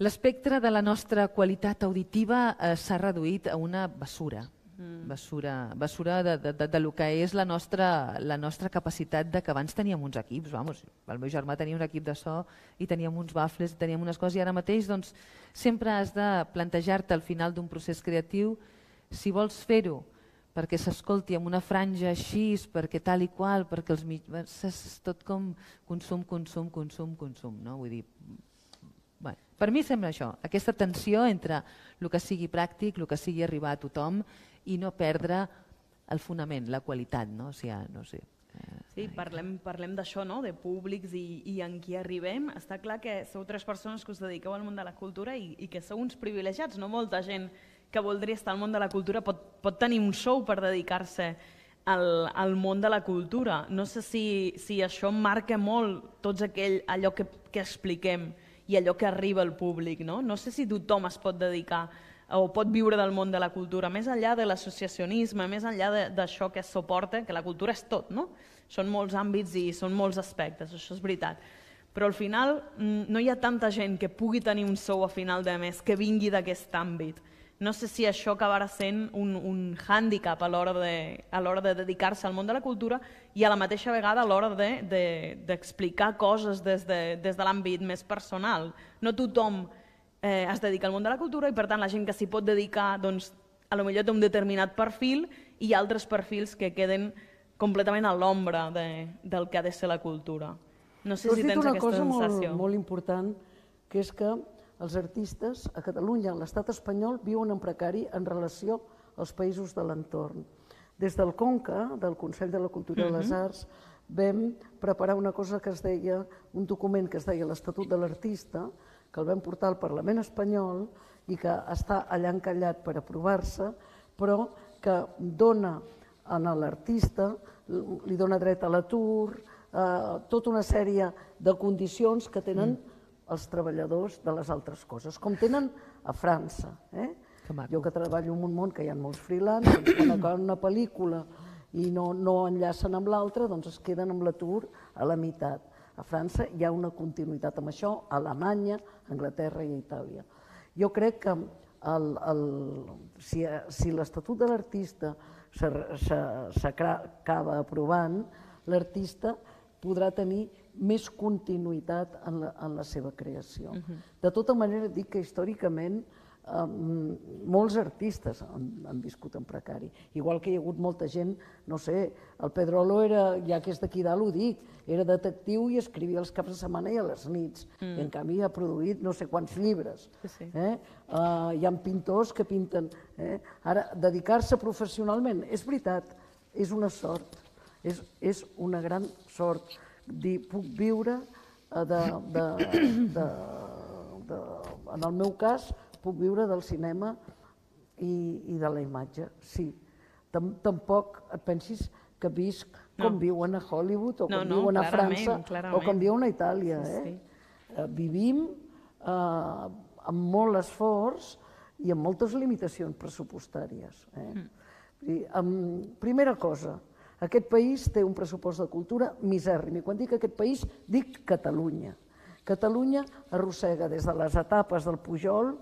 S3: l'espectre de la nostra qualitat auditiva eh, s'ha reduït a una basura. Basura, basura de, de, de, de lo que és la nostra, la nostra capacitat de que abans teníem uns equips, vamos, el meu germà tenia un equip de so i teníem uns baffles, teníem unes coses i ara mateix doncs, sempre has de plantejar-te al final d'un procés creatiu si vols fer-ho perquè s'escolti amb una franja així, perquè tal i qual, perquè els mitjans, és tot com consum, consum, consum, consum, no? Vull dir, bueno, per mi sembla això, aquesta tensió entre el que sigui pràctic, el que sigui arribar a tothom i no perdre el fonament, la qualitat, no? O sigui, no sé.
S2: Sí, parlem, parlem d'això, no? De públics i, i en qui arribem. Està clar que sou tres persones que us dediqueu al món de la cultura i, i que sou uns privilegiats. No molta gent que voldria estar al món de la cultura pot, pot tenir un sou per dedicar-se al, al món de la cultura. No sé si, si això marca molt tots aquell, allò que, que expliquem i allò que arriba al públic, no? No sé si tothom es pot dedicar o pot viure del món de la cultura, més enllà de l'associacionisme, més enllà d'això que es suporta, que la cultura és tot, no? Són molts àmbits i són molts aspectes, això és veritat. Però al final no hi ha tanta gent que pugui tenir un sou a final de mes que vingui d'aquest àmbit. No sé si això acabarà sent un, un hàndicap a l'hora de, a l'hora de dedicar-se al món de la cultura i a la mateixa vegada a l'hora d'explicar de, de, coses des de, des de l'àmbit més personal. No tothom eh, es dedica al món de la cultura i per tant la gent que s'hi pot dedicar doncs, a lo millor té un determinat perfil i altres perfils que queden completament a l'ombra de, del que ha de ser la cultura. No sé si tens aquesta sensació.
S4: Has dit una cosa molt, molt important, que és que els artistes a Catalunya, a l'estat espanyol, viuen en precari en relació als països de l'entorn. Des del Conca, del Consell de la Cultura i les Arts, vam preparar una cosa que es deia, un document que es deia l'Estatut de l'Artista, que el vam portar al Parlament espanyol i que està allà encallat per aprovar-se, però que dona a l'artista, li dona dret a l'atur, tota una sèrie de condicions que tenen els treballadors de les altres coses, com tenen a França. Jo que treballo en un món que hi ha molts freelance, quan acaben una pel·lícula i no enllacen amb l'altra, doncs es queden amb l'atur a la meitat. A França hi ha una continuïtat amb això, a Alemanya, a Anglaterra i a Itàlia. Jo crec que si l'Estatut de l'Artista s'acaba aprovant, l'artista podrà tenir més continuïtat en la seva creació. De tota manera, dic que històricament molts artistes han viscut en precari. Igual que hi ha hagut molta gent, no sé, el Pedrolo era, ja que és d'aquí dalt ho dic, era detectiu i escrivia els caps de setmana i a les nits. I en canvi ha produït no sé quants llibres. Hi ha pintors que pinten. Ara, dedicar-se professionalment, és veritat, és una sort, és una gran sort. Dir, puc viure de... En el meu cas, puc viure del cinema i de la imatge, sí. Tampoc et pensis que visc com viuen a Hollywood o com viuen a França o com viuen a Itàlia. Vivim amb molt esforç i amb moltes limitacions pressupostàries. Primera cosa, aquest país té un pressupost de cultura misèrrim, i quan dic aquest país dic Catalunya. Catalunya arrossega des de les etapes del Pujol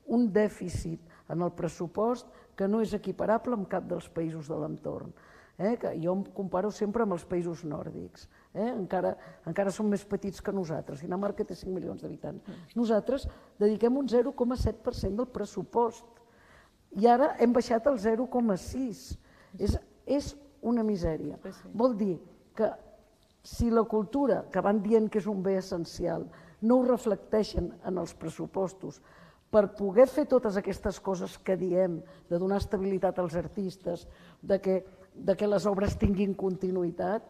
S4: un dèficit en el pressupost que no és equiparable amb cap dels països de l'entorn. Jo em comparo sempre amb els països nòrdics. Encara són més petits que nosaltres. Dinamarca té cinc milions d'habitants. Nosaltres dediquem un zero coma set per cent del pressupost i ara hem baixat al zero coma sis. És una misèria. Vol dir que si la cultura, que van dient que és un bé essencial, no ho reflecteixen en els pressupostos per poder fer totes aquestes coses que diem, de donar estabilitat als artistes, de que les obres tinguin continuïtat,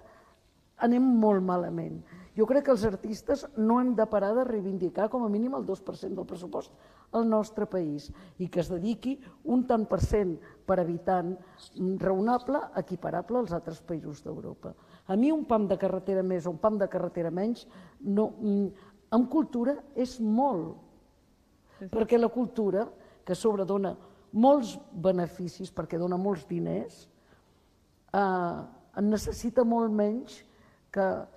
S4: anem molt malament. Jo crec que els artistes no hem de parar de reivindicar com a mínim el dos per cent del pressupost al nostre país i que es dediqui un tant per cent per habitant raonable, equiparable als altres països d'Europa. A mi un pam de carretera més o un pam de carretera menys, en cultura és molt, perquè la cultura, que a sobre dona molts beneficis, perquè dona molts diners, en necessita molt menys que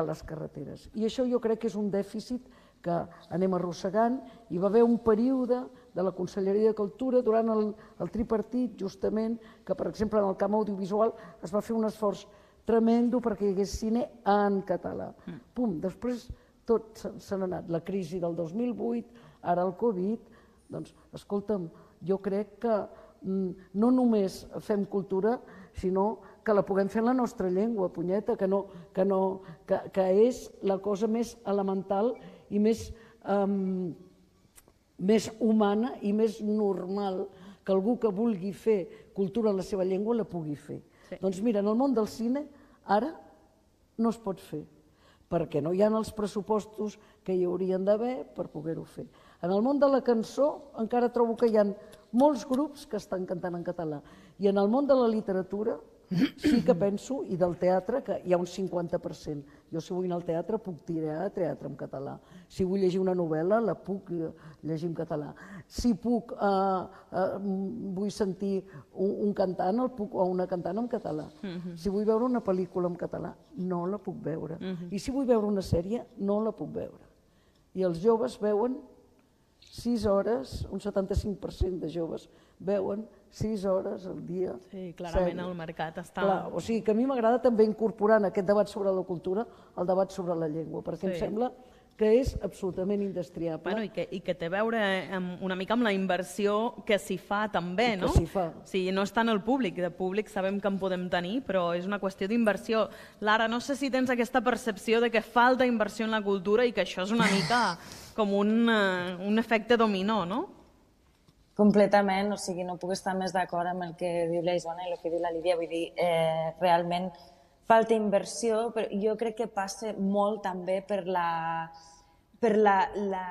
S4: les carreteres. I això jo crec que és un dèficit que anem arrossegant. Hi va haver un període de la Conselleria de Cultura durant el tripartit, justament, que per exemple en el camp audiovisual es va fer un esforç tremendo perquè hi hagués cine en català. Pum, després tot se n'ha anat. La crisi del dos mil vuit, ara el Covid, doncs, escolta'm, jo crec que no només fem cultura, sinó que la puguem fer en la nostra llengua, punyeta, que és la cosa més elemental i més humana i més normal que algú que vulgui fer cultura en la seva llengua la pugui fer. Doncs mira, en el món del cine ara no es pot fer, perquè no hi ha els pressupostos que hi haurien d'haver per poder-ho fer. En el món de la cançó encara trobo que hi ha molts grups que estan cantant en català. I en el món de la literatura sí que penso, i del teatre, que hi ha un cinquanta per cent. Jo si vull anar al teatre puc tirar teatre en català. Si vull llegir una novel·la la puc llegir en català. Si puc, vull sentir un cantant o una cantant en català. Si vull veure una pel·lícula en català, no la puc veure. I si vull veure una sèrie, no la puc veure. I els joves veuen sis hores, un setanta-cinc per cent de joves veuen sis hores al dia.
S2: Sí, clarament el mercat està...
S4: O sigui que a mi m'agrada també incorporar en aquest debat sobre la cultura el debat sobre la llengua, perquè em sembla que és absolutament indestriable.
S2: I que té a veure una mica amb la inversió que s'hi fa també, no?
S4: Que s'hi fa.
S2: O sigui, no està en el públic, de públic sabem que en podem tenir, però és una qüestió d'inversió. Lara, no sé si tens aquesta percepció de que falta inversió en la cultura i que això és una mica com un efecte dominó, no?
S5: completament, o sigui, no puc estar més d'acord amb el que diu la Isona i el que diu la Lídia, vull dir, eh, realment falta inversió, però jo crec que passa molt també per la... per la, la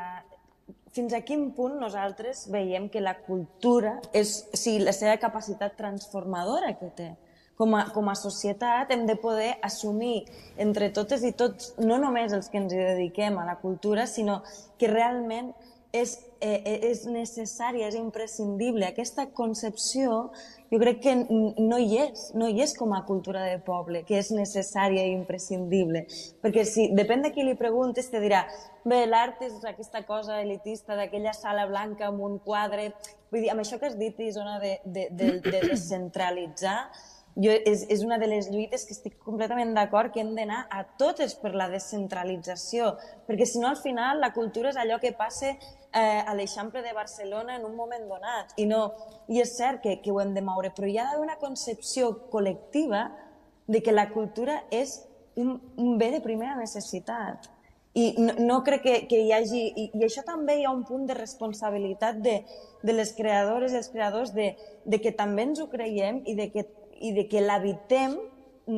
S5: fins a quin punt nosaltres veiem que la cultura és, o sigui, la seva capacitat transformadora que té. Com a, com a societat hem de poder assumir entre totes i tots, no només els que ens hi dediquem a la cultura, sinó que realment és, eh, és necessària, és imprescindible. Aquesta concepció jo crec que no hi és, no hi és com a cultura de poble, que és necessària i imprescindible. Perquè si depèn de qui li preguntes, te dirà bé, l'art és aquesta cosa elitista d'aquella sala blanca amb un quadre... Vull dir, amb això que has dit, Isona, de, de, de, de descentralitzar, jo, és, és una de les lluites que estic completament d'acord que hem d'anar a totes per la descentralització, perquè si no al final la cultura és allò que passa eh, a l'Eixample de Barcelona en un moment donat, i, no, i és cert que, que ho hem de moure, però hi ha d'haver una concepció col·lectiva de que la cultura és un, un bé de primera necessitat. I no, no crec que, que hi hagi... I, I això també hi ha un punt de responsabilitat de, de les creadores i els creadors de, de que també ens ho creiem i de que i de que l'habitem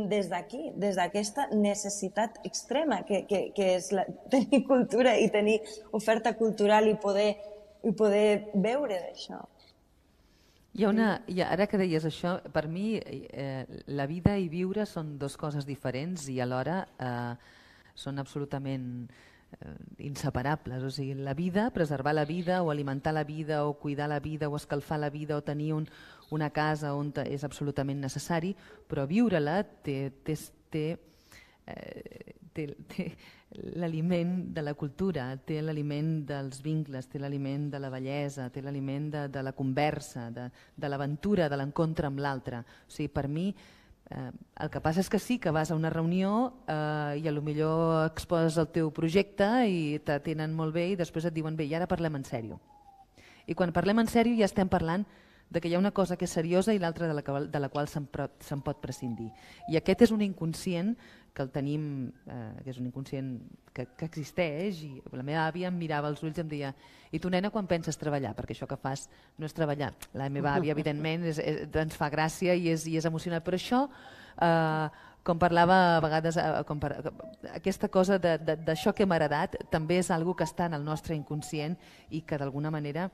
S5: des d'aquí, des d'aquesta necessitat extrema que, que, que és la, tenir cultura i tenir oferta cultural i poder, i poder veure d'això.
S3: Hi ha una, hi ha, ara que deies això, per mi eh, la vida i viure són dues coses diferents i alhora eh, són absolutament eh, inseparables. O sigui, la vida, preservar la vida o alimentar la vida o cuidar la vida o escalfar la vida o tenir un, una casa on és absolutament necessari, però viure-la té, té, té, eh, té, té l'aliment de la cultura, té l'aliment dels vincles, té l'aliment de la bellesa, té l'aliment de, de la conversa, de, de l'aventura, de l'encontre amb l'altre. O sigui, per mi, eh, el que passa és que sí, que vas a una reunió eh, i a lo millor exposes el teu projecte i t'atenen molt bé i després et diuen bé, i ara parlem en sèrio. I quan parlem en sèrio ja estem parlant de que hi ha una cosa que és seriosa i l'altra de la, que, de la qual se'n se pot prescindir. I aquest és un inconscient que el tenim, eh, que és un inconscient que, que existeix, i la meva àvia em mirava als ulls i em deia i tu, nena, quan penses treballar? Perquè això que fas no és treballar. La meva àvia, evidentment, és, és, ens fa gràcia i és, i és emocionant, però això, eh, com parlava a vegades, eh, com per, aquesta cosa d'això que hem heredat també és algo que està en el nostre inconscient i que d'alguna manera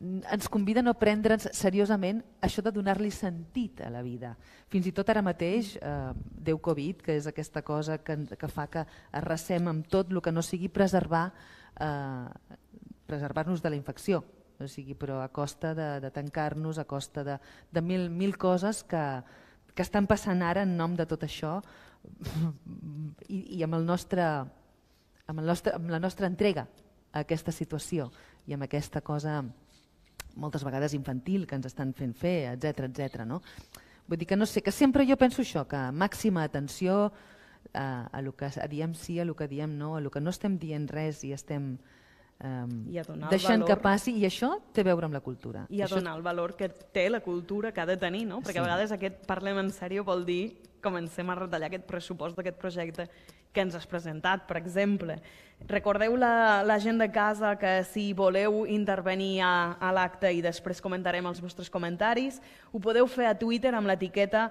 S3: ens convida a no prendre'ns seriosament això de donar-li sentit a la vida. Fins i tot ara mateix, eh, Déu Covid, que és aquesta cosa que, que fa que arrasem amb tot el que no sigui preservar eh, preservar-nos de la infecció, o sigui, però a costa de, de tancar-nos, a costa de, de mil, mil coses que, que estan passant ara en nom de tot això i, i amb, el nostre, amb, el nostre, amb la nostra entrega a aquesta situació i amb aquesta cosa moltes vegades infantil que ens estan fent fer, etcètera, etcètera, no? Vull dir que no sé, que sempre jo penso això, que màxima atenció a, a lo que diem sí, a lo que diem no, a lo que no estem dient res i estem um, deixant valor, que passi, i això té a veure amb la cultura.
S2: I a
S3: això...
S2: donar el valor que té la cultura que ha de tenir, no? Perquè sí. A vegades aquest parlem en sèrio vol dir comencem a retallar aquest pressupost d'aquest projecte que ens has presentat, per exemple. Recordeu la, la gent de casa que si voleu intervenir a, a l'acte i després comentarem els vostres comentaris, ho podeu fer a Twitter amb l'etiqueta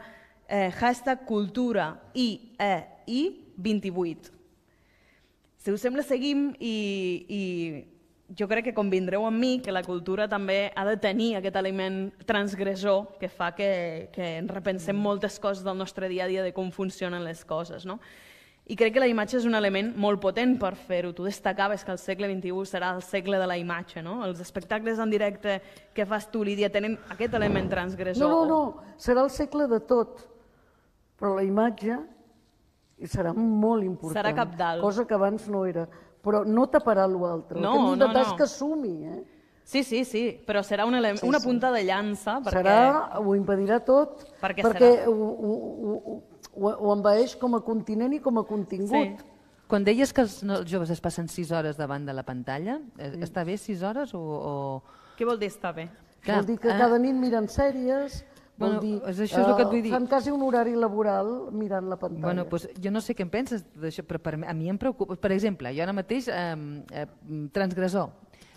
S2: eh, hashtag cultura i e i vint-i-vuit. Si us sembla, seguim i, i jo crec que convindreu amb mi que la cultura també ha de tenir aquest element transgressor que fa que, que ens repensem moltes coses del nostre dia a dia de com funcionen les coses, no? I crec que la imatge és un element molt potent per fer-ho. Tu destacaves que el segle vint-i-u serà el segle de la imatge, no? Els espectacles en directe que fas tu, Lídia, tenen aquest element transgressor.
S4: No, no, no, serà el segle de tot, però la imatge serà molt important.
S2: Serà cabdal.
S4: Cosa que abans no era. Però no taparà l'altre.
S2: No,
S4: el que hem d'intentar
S2: no, no.
S4: és que sumi, eh?
S2: Sí, sí, sí, però serà un element, sí, una punta de llança. Perquè...
S4: Serà, ho impedirà tot,
S2: perquè,
S4: perquè
S2: serà...
S4: ho, ho, ho, ho, ho envaeix com a continent i com a contingut.
S3: Sí. Quan deies que els, no, els joves es passen sis hores davant de la pantalla, sí. Està bé sis hores o...? o...
S2: Què vol dir estar bé?
S4: Clar, vol dir que
S3: ah.
S4: cada nit miren sèries, vol
S3: bueno,
S4: dir,
S3: això és el que et vull dir.
S4: Fan quasi un horari laboral mirant la pantalla.
S3: Bueno, pues, jo no sé què en penses d'això, però per, a mi em preocupa. Per exemple, jo ara mateix, eh, eh, transgressor,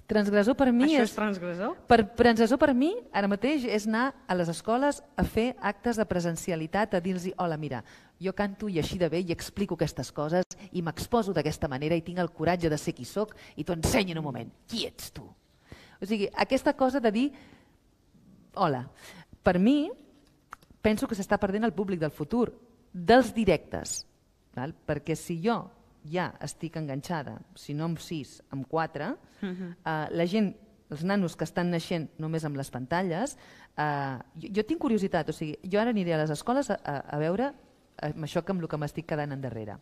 S3: Transgressor per mi
S2: Això
S3: és...
S2: és transgressor?
S3: Per, transgressor per mi, ara mateix, és anar a les escoles a fer actes de presencialitat, a dir-los, hola, mira, jo canto i així de bé i explico aquestes coses i m'exposo d'aquesta manera i tinc el coratge de ser qui sóc i t'ho ensenyo en un moment. Qui ets tu? O sigui, aquesta cosa de dir, hola, per mi, penso que s'està perdent el públic del futur, dels directes, val? Perquè si jo ja estic enganxada, si no amb sis, amb quatre, uh -huh. eh, la gent, els nanos que estan naixent només amb les pantalles, eh, jo, jo tinc curiositat, o sigui, jo ara aniré a les escoles a, a, a veure amb això que amb el que m'estic quedant endarrere.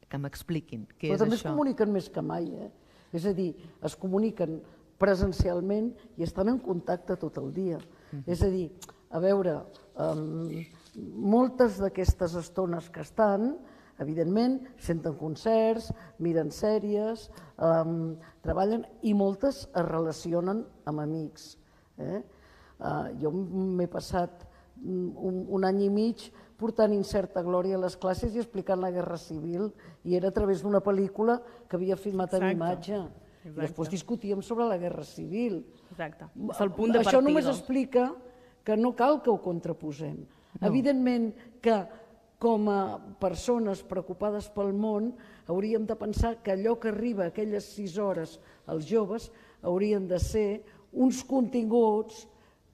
S3: Que m'expliquin què
S4: Però
S3: és
S4: també
S3: això.
S4: es comuniquen més que mai, eh? És a dir, es comuniquen presencialment i estan en contacte tot el dia. Uh -huh. És a dir, a veure, um, moltes d'aquestes estones que estan, evidentment, senten concerts, miren sèries, um, treballen i moltes es relacionen amb amics. Eh? Uh, jo m'he passat un, un any i mig portant Incerta glòria a les classes i explicant la Guerra Civil, i era a través d'una pel·lícula que havia filmat en imatge. I després discutíem sobre la Guerra Civil.
S2: Exacte. És el punt de partida.
S4: Això només explica que no cal que ho contraposem. No. Evidentment que com a persones preocupades pel món hauríem de pensar que allò que arriba a aquelles sis hores als joves haurien de ser uns continguts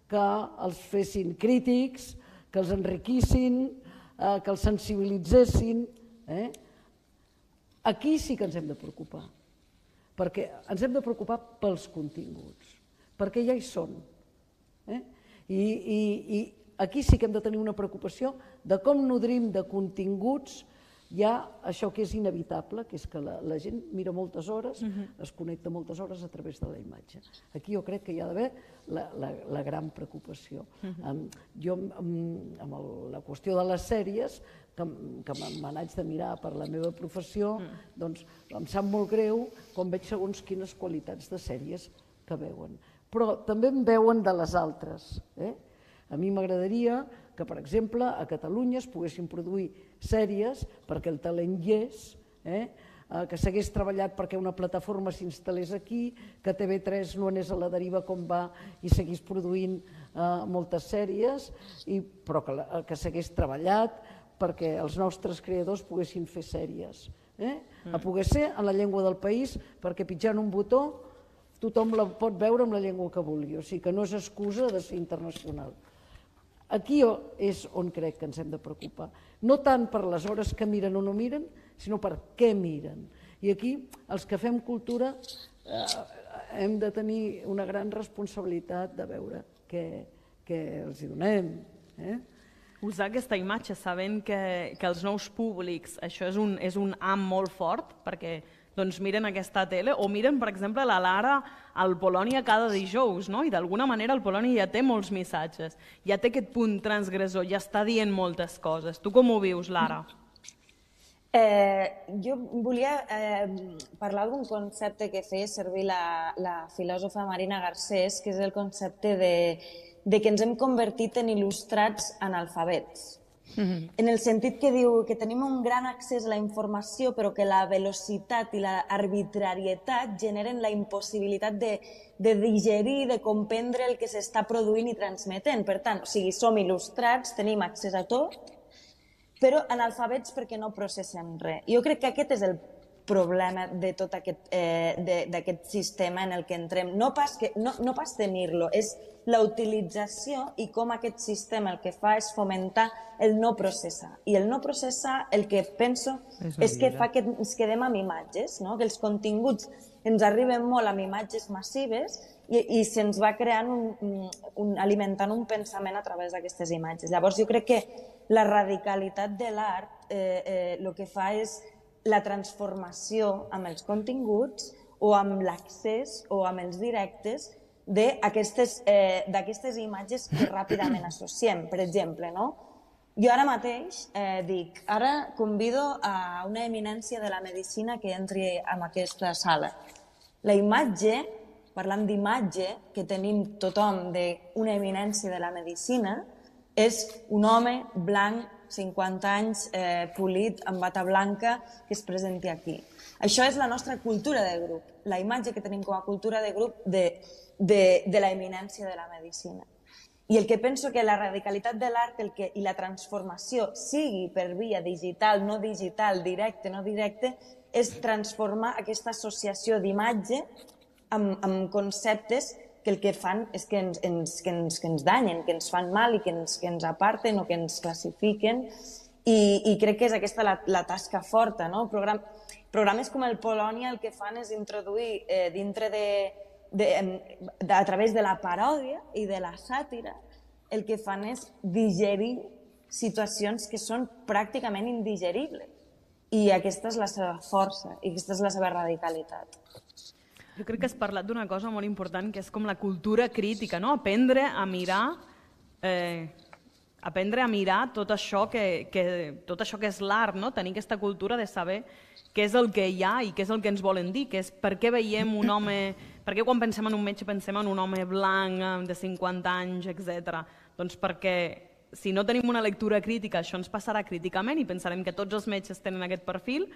S4: que els fessin crítics, que els enriquissin, eh, que els sensibilitzessin. Eh? Aquí sí que ens hem de preocupar, perquè ens hem de preocupar pels continguts, perquè ja hi són. Eh? I, i, I aquí sí que hem de tenir una preocupació de com nodrim de continguts ja això que és inevitable, que és que la, la gent mira moltes hores, uh-huh. es connecta moltes hores a través de la imatge. Aquí jo crec que hi ha d'haver la, la, la gran preocupació. Uh-huh. um, jo, um, amb el, la qüestió de les sèries, que, que me n'haig de mirar per la meva professió, uh-huh. doncs em sap molt greu quan veig segons quines qualitats de sèries que veuen. Però també en veuen de les altres. Eh? A mi m'agradaria que, per exemple, a Catalunya es poguessin produir sèries perquè el talent hi és, eh? que s'hagués treballat perquè una plataforma s'instal·lés aquí, que T V tres no anés a la deriva com va i seguís produint eh, moltes sèries, i, però que, que s'hagués treballat perquè els nostres creadors poguessin fer sèries. Eh? Mm. A poder ser en la llengua del país, perquè pitjant un botó tothom la pot veure amb la llengua que vulgui, o sigui que no és excusa de ser internacional. Aquí és on crec que ens hem de preocupar. No tant per les hores que miren o no miren, sinó per què miren. I aquí, els que fem cultura, eh, hem de tenir una gran responsabilitat de veure què, què els hi donem. Eh?
S2: Usar aquesta imatge sabent que, que els nous públics, això és un, és un am molt fort, perquè doncs miren aquesta tele, o miren, per exemple, la Lara al Polònia cada dijous, no? I d'alguna manera el Polònia ja té molts missatges, ja té aquest punt transgressor, ja està dient moltes coses. Tu com ho vius, Lara?
S5: Eh, jo volia eh, parlar d'un concepte que feia servir la, la filòsofa Marina Garcés, que és el concepte de, de que ens hem convertit en il·lustrats analfabets. Mm-hmm. En el sentit que diu que tenim un gran accés a la informació, però que la velocitat i l'arbitrarietat generen la impossibilitat de, de digerir, de comprendre el que s'està produint i transmetent. Per tant, o sigui, som il·lustrats, tenim accés a tot, però analfabets perquè no processem res. Jo crec que aquest és el problema de tot aquest, eh, d'aquest sistema en el que entrem. No pas, que, no, no pas tenir-lo, és la utilització i com aquest sistema el que fa és fomentar el no processar. I el no processar el que penso és, és que fa que ens quedem amb imatges, no? Que els continguts ens arriben molt amb imatges massives i, i se'ns va creant un, un, alimentant un pensament a través d'aquestes imatges. Llavors jo crec que la radicalitat de l'art eh, eh, el que fa és la transformació amb els continguts o amb l'accés o amb els directes d'aquestes eh, imatges que ràpidament associem. Per exemple, no? Jo ara mateix eh, dic, ara convido a una eminència de la medicina que entri en aquesta sala. La imatge, parlant d'imatge, que tenim tothom d'una eminència de la medicina, és un home blanc, cinquanta anys, eh, polit, amb bata blanca, que es presenti aquí. Això és la nostra cultura de grup, la imatge que tenim com a cultura de grup de, de, de la eminència de la medicina. I el que penso que la radicalitat de l'art i la transformació, sigui per via digital, no digital, directe, no directe, és transformar aquesta associació d'imatge amb, amb conceptes que el que fan és que ens, ens, que ens, que ens danyen, que ens fan mal i que ens, que ens aparten o que ens classifiquen. I, i crec que és aquesta la, la tasca forta, no? Program, programes com el Polònia el que fan és introduir eh, dintre de, de, de, a través de la paròdia i de la sàtira, el que fan és digerir situacions que són pràcticament indigeribles. I aquesta és la seva força i aquesta és la seva radicalitat.
S2: Jo crec que has parlat d'una cosa molt important, que és com la cultura crítica, no? Aprendre a mirar, eh, aprendre a mirar tot això que, que, tot això que és l'art, no? Tenir aquesta cultura de saber què és el que hi ha i què és el que ens volen dir, que és per què veiem un home, per què quan pensem en un metge pensem en un home blanc de cinquanta anys, etcètera. Doncs perquè si no tenim una lectura crítica, això ens passarà críticament i pensarem que tots els metges tenen aquest perfil.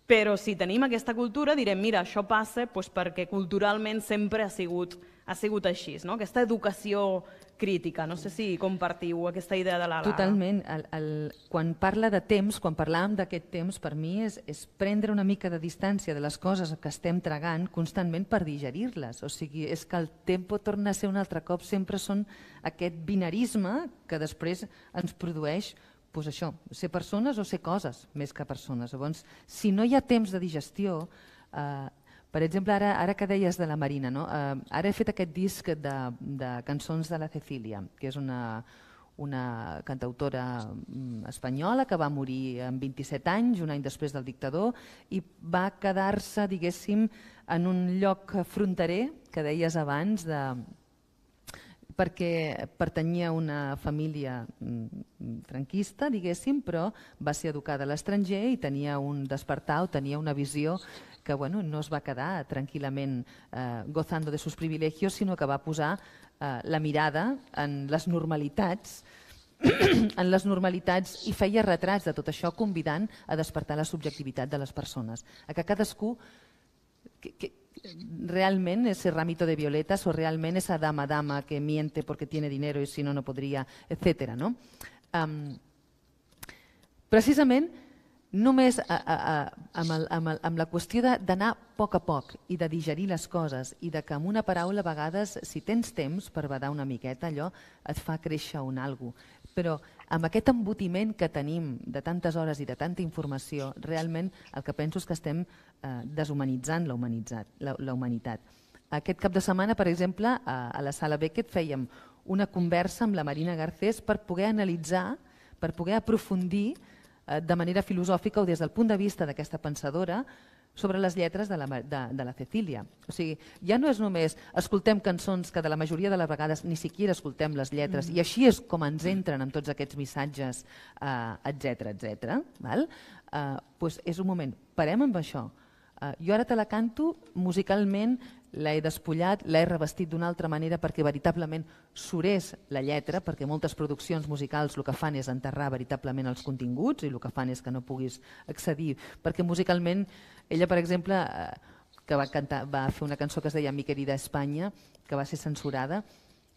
S2: Però si tenim aquesta cultura direm, mira, això passa doncs, perquè culturalment sempre ha sigut, ha sigut així, no? Aquesta educació crítica. No sé si compartiu aquesta idea de la Lara.
S3: Totalment. El, el, quan parla de temps, quan parlàvem d'aquest temps, per mi és, és prendre una mica de distància de les coses que estem tragant constantment per digerir-les. O sigui, és que el tempo torna a ser un altre cop, sempre són aquest binarisme que després ens produeix pues això, ser persones o ser coses més que persones. Llavors, si no hi ha temps de digestió, eh, per exemple, ara, ara que deies de la Marina, no? eh, ara he fet aquest disc de, de cançons de la Cecília, que és una, una cantautora espanyola que va morir amb vint-i-set anys, un any després del dictador, i va quedar-se, diguéssim, en un lloc fronterer, que deies abans, de perquè pertanyia a una família franquista, diguéssim, però va ser educada a l'estranger i tenia un despertar o tenia una visió que bueno, no es va quedar tranquil·lament eh, gozando de sus privilegios, sinó que va posar eh, la mirada en les normalitats en les normalitats i feia retrats de tot això convidant a despertar la subjectivitat de les persones, a que cadascú que, que, realment ese ramito de violetas o realment esa dama dama que miente porque tiene dinero y si no no podría, etcétera. No? Um, precisament només a, a, a, amb, el, amb, el, amb la qüestió d'anar a poc a poc i de digerir les coses i de que amb una paraula a vegades, si tens temps per badar una miqueta, allò et fa créixer un algo. Però amb aquest embotiment que tenim de tantes hores i de tanta informació, realment el que penso és que estem eh, deshumanitzant la, la, la humanitat. Aquest cap de setmana, per exemple, a, a la Sala Beckett fèiem una conversa amb la Marina Garcés per poder analitzar, per poder aprofundir eh, de manera filosòfica o des del punt de vista d'aquesta pensadora sobre les lletres de la, de, de la Cecília. O sigui, ja no és només escoltem cançons que de la majoria de les vegades ni siquiera escoltem les lletres mm. i així és com ens entren amb tots aquests missatges, eh, etcètera, etcètera. Val? Eh, doncs és un moment, parem amb això. Eh, jo ara te la canto, musicalment l'he despullat, l'he revestit d'una altra manera perquè veritablement surés la lletra, perquè moltes produccions musicals el que fan és enterrar veritablement els continguts i el que fan és que no puguis accedir, perquè musicalment ella, per exemple, que va, cantar, va fer una cançó que es deia Mi querida Espanya, que va ser censurada,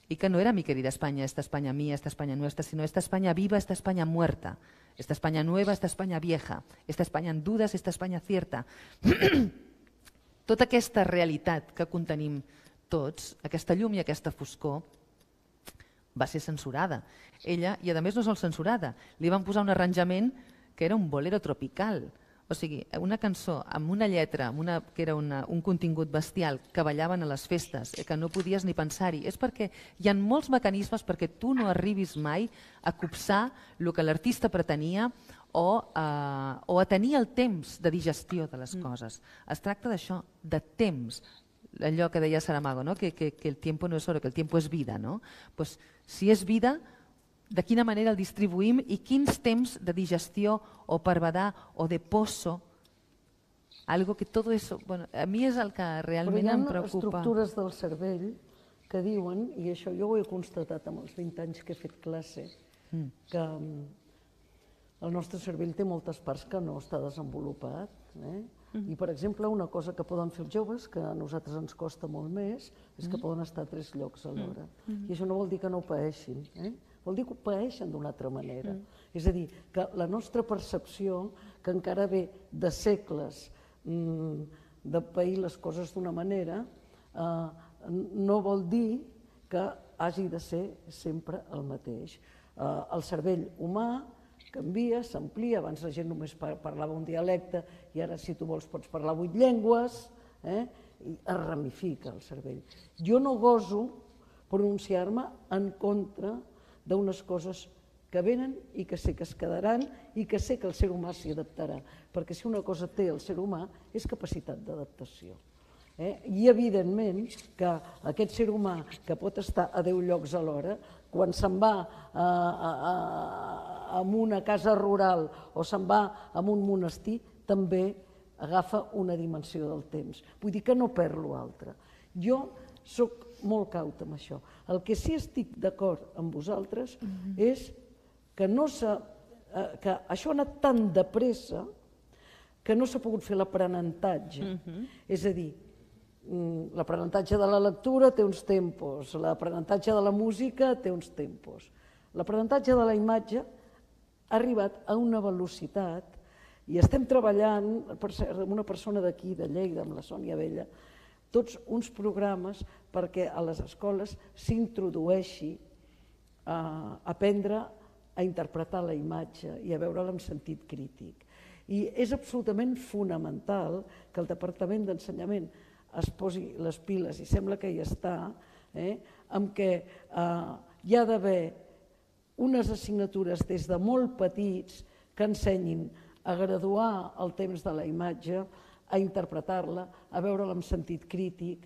S3: i que no era Mi querida España, esta España mía, esta España nuestra, sino esta España viva, esta España muerta, esta España nueva, esta España vieja, esta España en dudas, esta España cierta. Tota aquesta realitat que contenim tots, aquesta llum i aquesta foscor, va ser censurada. Ella, i a més no sol censurada, li van posar un arranjament que era un bolero tropical. O sigui, una cançó amb una lletra, amb una, que era una, un contingut bestial, que ballaven a les festes, que no podies ni pensar-hi. És perquè hi ha molts mecanismes perquè tu no arribis mai a copsar el que l'artista pretenia o, eh, o a tenir el temps de digestió de les coses. Es tracta d'això, de temps. Allò que deia Saramago, no? que, que, que el tiempo no es oro, que el tiempo es vida. No? Pues, si és vida, de quina manera el distribuïm i quins temps de digestió o per badar o de pozo, algo que todo eso, bueno, a mi és el que realment em preocupa.
S4: Però hi ha estructures del cervell que diuen, i això jo ho he constatat amb els vint anys que he fet classe, mm. que el nostre cervell té moltes parts que no està desenvolupat. Eh? I, per exemple, una cosa que poden fer els joves, que a nosaltres ens costa molt més, és que poden estar a tres llocs alhora. I això no vol dir que no paeixin, eh? Vol dir que ho paeixen d'una altra manera. És a dir, que la nostra percepció, que encara ve de segles mmm, de pair les coses d'una manera, eh, no vol dir que hagi de ser sempre el mateix. Eh, el cervell humà canvia, s'amplia, abans la gent només parlava un dialecte i ara si tu vols pots parlar vuit llengües, eh? I es ramifica el cervell. Jo no goso pronunciar-me en contra d'unes coses que venen i que sé que es quedaran i que sé que el ser humà s'hi adaptarà, perquè si una cosa té el ser humà és capacitat d'adaptació. Eh? I evidentment que aquest ser humà que pot estar a deu llocs alhora, quan se'n va a, a, a, a una casa rural o se'n va a un monestir, també agafa una dimensió del temps. Vull dir que no perd l'altre. Jo soc molt cauta amb això. El que sí estic d'acord amb vosaltres és que, no que això ha anat tan de pressa que no s'ha pogut fer l'aprenentatge. És a dir, l'aprenentatge de la lectura té uns tempos, l'aprenentatge de la música té uns tempos. L'aprenentatge de la imatge ha arribat a una velocitat i estem treballant, per cert, amb una persona d'aquí, de Lleida, amb la Sònia Vella, tots uns programes perquè a les escoles s'introdueixi a aprendre a interpretar la imatge i a veure-la amb sentit crític. I és absolutament fonamental que el Departament d'Ensenyament es posi les piles, i sembla que hi està, amb què hi ha d'haver unes assignatures des de molt petits que ensenyin a graduar el temps de la imatge, a interpretar-la, a veure-la amb sentit crític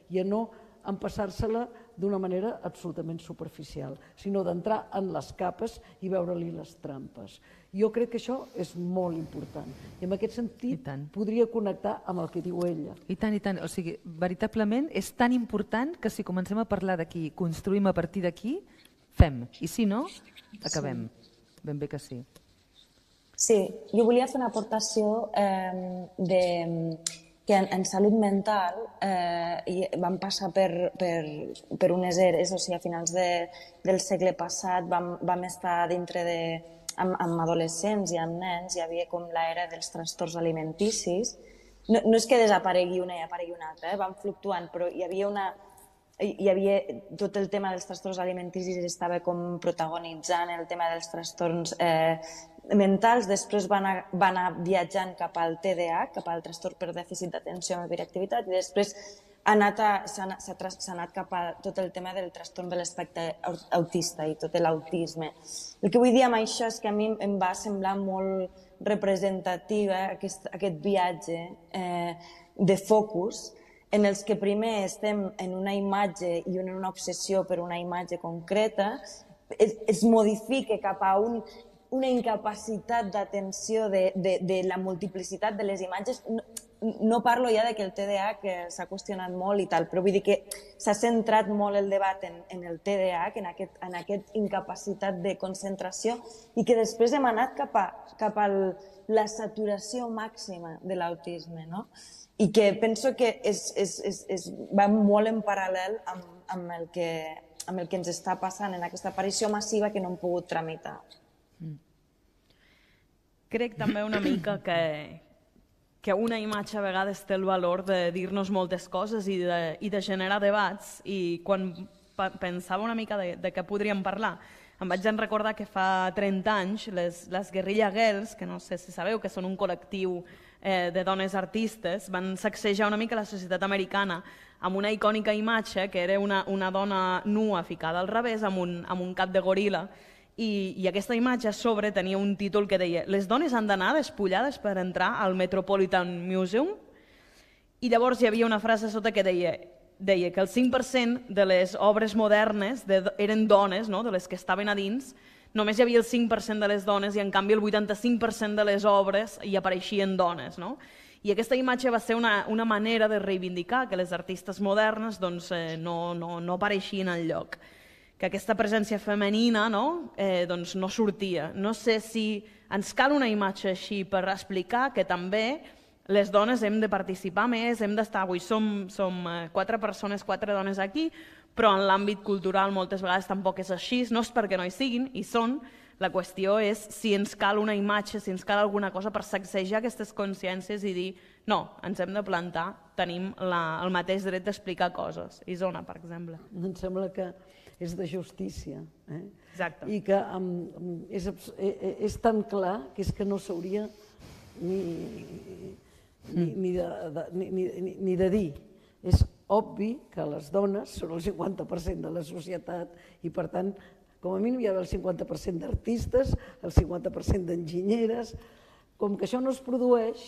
S4: i a no empassar-se-la d'una manera absolutament superficial, sinó d'entrar en les capes i veure-li les trampes. Jo crec que això és molt important i en aquest sentit podria connectar amb el que diu ella.
S3: I tant, i tant. O sigui, veritablement és tan important que si comencem a parlar d'aquí, construïm a partir d'aquí, fem. I si no, acabem. Ben bé que sí.
S5: Sí, jo volia fer una aportació eh, de, que en, en salut mental eh, vam passar per, per, per unes eres, o sigui, a finals de, del segle passat vam, vam estar dintre de, amb, amb adolescents i amb nens, hi havia com l'era dels trastorns alimenticis. No, no és que desaparegui una i aparegui una altra, eh, van fluctuant, però hi havia una... Hi havia tot el tema dels trastorns alimenticis estava com protagonitzant el tema dels trastorns eh, mentals, després va anar, va anar viatjant cap al T D A H, cap al trastorn per dèficit d'atenció amb hiperactivitat, i després s'ha anat, anat cap a tot el tema del trastorn de l'espectre autista i tot l'autisme. El que vull dir amb això és que a mi em va semblar molt representatiu eh, aquest, aquest viatge eh, de focus, en els que primer estem en una imatge i en una obsessió per una imatge concreta, es, es modifica cap a un, una incapacitat d'atenció de, de, de la multiplicitat de les imatges. No, no parlo ja de que el T D A H que s'ha qüestionat molt i tal, però vull dir que s'ha centrat molt el debat en, en el T D A H, en aquest, en aquest incapacitat de concentració, i que després hem anat cap a, cap a la saturació màxima de l'autisme, no? I que penso que és, és, és, és, va molt en paral·lel amb, amb, el que, amb el que ens està passant en aquesta aparició massiva que no hem pogut tramitar.
S2: Mm. Crec també una mica que, que una imatge a vegades té el valor de dir-nos moltes coses i de, i de generar debats, i quan pensava una mica de, de què podríem parlar, em vaig recordar que fa trenta anys les, les Guerrilla Girls, que no sé si sabeu que són un col·lectiu eh, de dones artistes, van sacsejar una mica la societat americana amb una icònica imatge que era una, una dona nua ficada al revés amb un, amb un cap de goril·la, i, i aquesta imatge a sobre tenia un títol que deia «Les dones han d'anar despullades per entrar al Metropolitan Museum», i llavors hi havia una frase sota que deia deia que el cinc per cent de les obres modernes de, eren dones, no? De les que estaven a dins, només hi havia el cinc per cent de les dones i en canvi el vuitanta-cinc per cent de les obres hi apareixien dones. No? I aquesta imatge va ser una, una manera de reivindicar que les artistes modernes doncs, eh, no, no, no apareixien enlloc, que aquesta presència femenina no, eh, doncs no sortia. No sé si ens cal una imatge així per explicar que també les dones hem de participar més, hem d'estar... Avui som, som quatre persones, quatre dones aquí, però en l'àmbit cultural moltes vegades tampoc és així, no és perquè no hi siguin, hi són. La qüestió és si ens cal una imatge, si ens cal alguna cosa per sacsejar aquestes consciències i dir no, ens hem de plantar, tenim la, el mateix dret d'explicar coses. Isona, per exemple.
S4: Em sembla que és de justícia. Eh?
S2: Exacte.
S4: I que um, és, és tan clar que és que no s'hauria ni, ni, ni, de, de, ni, ni, ni de dir. És obvi que les dones són el cinquanta per cent de la societat i, per tant, com a mínim hi ha el cinquanta per cent d'artistes, el cinquanta per cent d'enginyeres. Com que això no es produeix,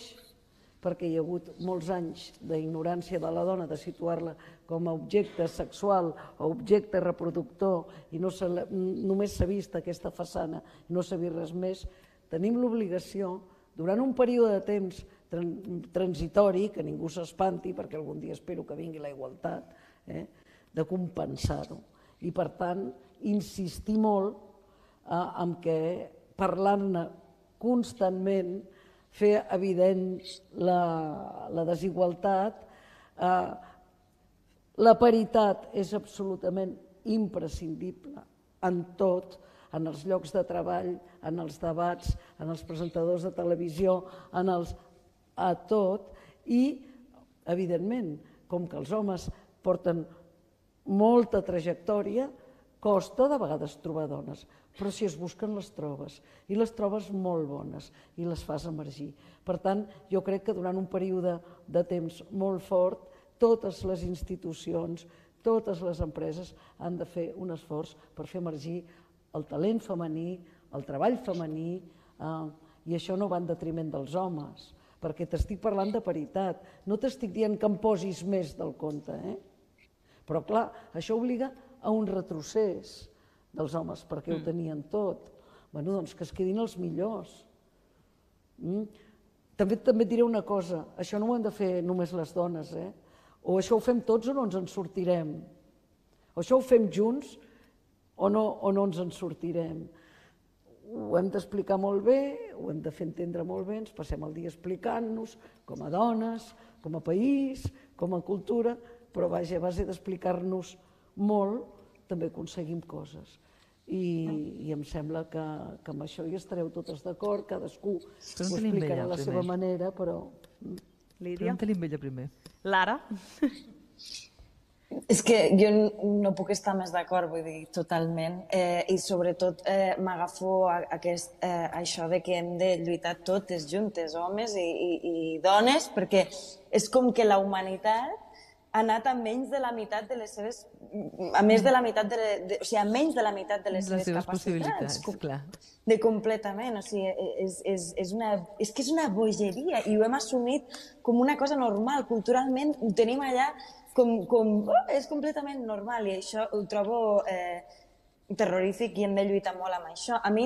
S4: perquè hi ha hagut molts anys d'ignorància de la dona, de situar-la com a objecte sexual o objecte reproductor, i no només s'ha vist aquesta façana i no s'ha vist res més, tenim l'obligació, durant un període de temps transitori, que ningú s'espanti, perquè algun dia espero que vingui la igualtat, eh, de compensar-ho. I, per tant, insistir molt eh, en què parlar-ne constantment, fer evident la, la desigualtat. Eh, la paritat és absolutament imprescindible en tot, en els llocs de treball, en els debats, en els presentadors de televisió, en els, a tot, i, evidentment, com que els homes porten molta trajectòria, costa de vegades trobar dones, però si es busquen les trobes, i les trobes molt bones, i les fas emergir. Per tant, jo crec que durant un període de temps molt fort, totes les institucions, totes les empreses han de fer un esforç per fer emergir el talent femení, el treball femení, eh, i això no va en detriment dels homes, perquè t'estic parlant de paritat, no t'estic dient que em posis més del compte, eh? Però clar, això obliga a un retrocés dels homes, perquè ho tenien tot. Bueno, doncs que es quedin els millors. Mm? També, també et diré una cosa, això no ho han de fer només les dones, eh? O això ho fem tots o no ens en sortirem. O això ho fem junts o no, o no ens en sortirem. Ho hem d'explicar molt bé, ho hem de fer entendre molt bé, ens passem el dia explicant-nos com a dones, com a país, com a cultura, però vaja, a base d'explicar-nos molt, també aconseguim coses. I, i em sembla que, que amb això hi estareu totes d'acord, cadascú ho explicarà a la seva manera, però...
S2: Lídia?
S3: Pregunta-li amb ella primer.
S2: Lara?
S5: És que jo no puc estar més d'acord, vull dir, totalment. Eh, I sobretot eh, m'agafo a, a aquest, eh, a això de que hem de lluitar totes juntes, homes i, i, i dones, perquè és com que la humanitat ha anat a menys de la meitat de les seves... a més de la meitat de... de o sigui, a menys de la meitat de les,
S3: les
S5: seves,
S3: seves
S5: capacitats.
S3: possibilitats, clar.
S5: De completament, o sigui, és, és, és, una, és que és una bogeria i ho hem assumit com una cosa normal. Culturalment ho tenim allà com... com oh, és completament normal i això ho trobo... Eh, terrorífic i hem de lluitar molt amb això. A mi,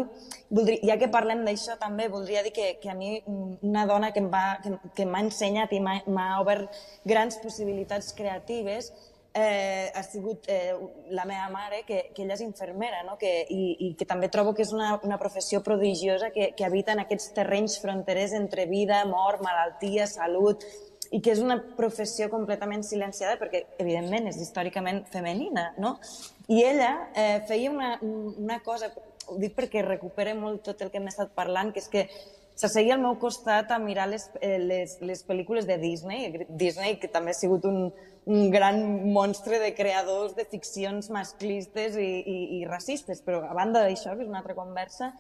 S5: voldria, ja que parlem d'això també, voldria dir que, que a mi una dona que m'ha que, que ensenyat i m'ha obert grans possibilitats creatives eh, ha sigut eh, la meva mare, que, que ella és infermera, no? que, i, i que també trobo que és una, una professió prodigiosa que, que habita en aquests terrenys fronterers entre vida, mort, malaltia, salut, i que és una professió completament silenciada perquè, evidentment, és històricament femenina, no? I ella eh, feia una, una cosa, ho dic perquè recupera molt tot el que hem estat parlant, que és que s'asseia al meu costat a mirar les, eh, les, les pel·lícules de Disney, Disney que també ha sigut un, un gran monstre de creadors de ficcions masclistes i, i, i racistes, però a banda d'això, que és una altra conversa,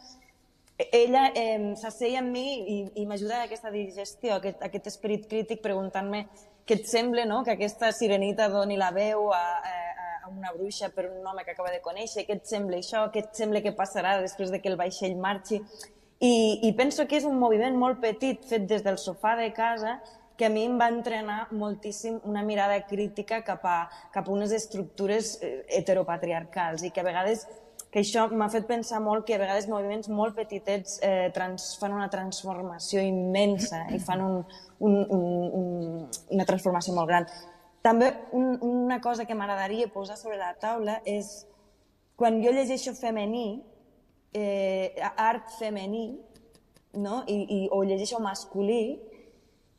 S5: ella eh, s'asseia amb mi i, i m'ajuda a aquesta digestió, a aquest, a aquest esperit crític, preguntant-me què et sembla, no? Que aquesta sirenita doni la veu a, a, a una bruixa per un home que acaba de conèixer, què et sembla això, què et sembla que passarà després de que el vaixell marxi. I, i penso que és un moviment molt petit, fet des del sofà de casa, que a mi em va entrenar moltíssim una mirada crítica cap a, cap a unes estructures heteropatriarcals i que a vegades... que això m'ha fet pensar molt que a vegades moviments molt petitets eh, trans, fan una transformació immensa i fan un, un, un, un, una transformació molt gran. També un, una cosa que m'agradaria posar sobre la taula és quan jo llegeixo femení, eh, art femení, no? I, i, o llegeixo masculí,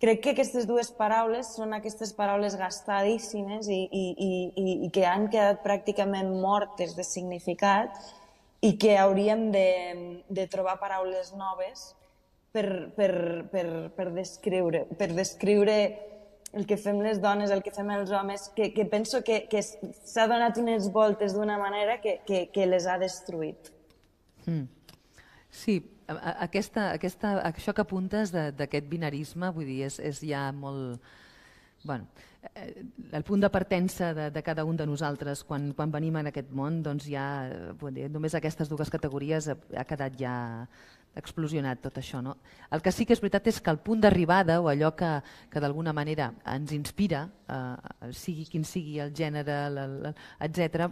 S5: crec que aquestes dues paraules són aquestes paraules gastadíssimes i, i, i, i que han quedat pràcticament mortes de significat i que hauríem de, de trobar paraules noves per, per, per, per, descriure, per descriure el que fem les dones, el que fem els homes, que, que penso que, que s'ha donat unes voltes d'una manera que, que, que les ha destruït.
S3: Mm. Sí, aquesta, aquesta, això que apuntes d'aquest binarisme, vull dir, és, és ja molt... Bueno, eh, el punt de partença de, de cada un de nosaltres quan, quan venim en aquest món, doncs ja, dir, només aquestes dues categories ha, ha quedat ja explosionat tot això. No? El que sí que és veritat és que el punt d'arribada o allò que, que d'alguna manera ens inspira, eh, sigui quin sigui el gènere, etcètera,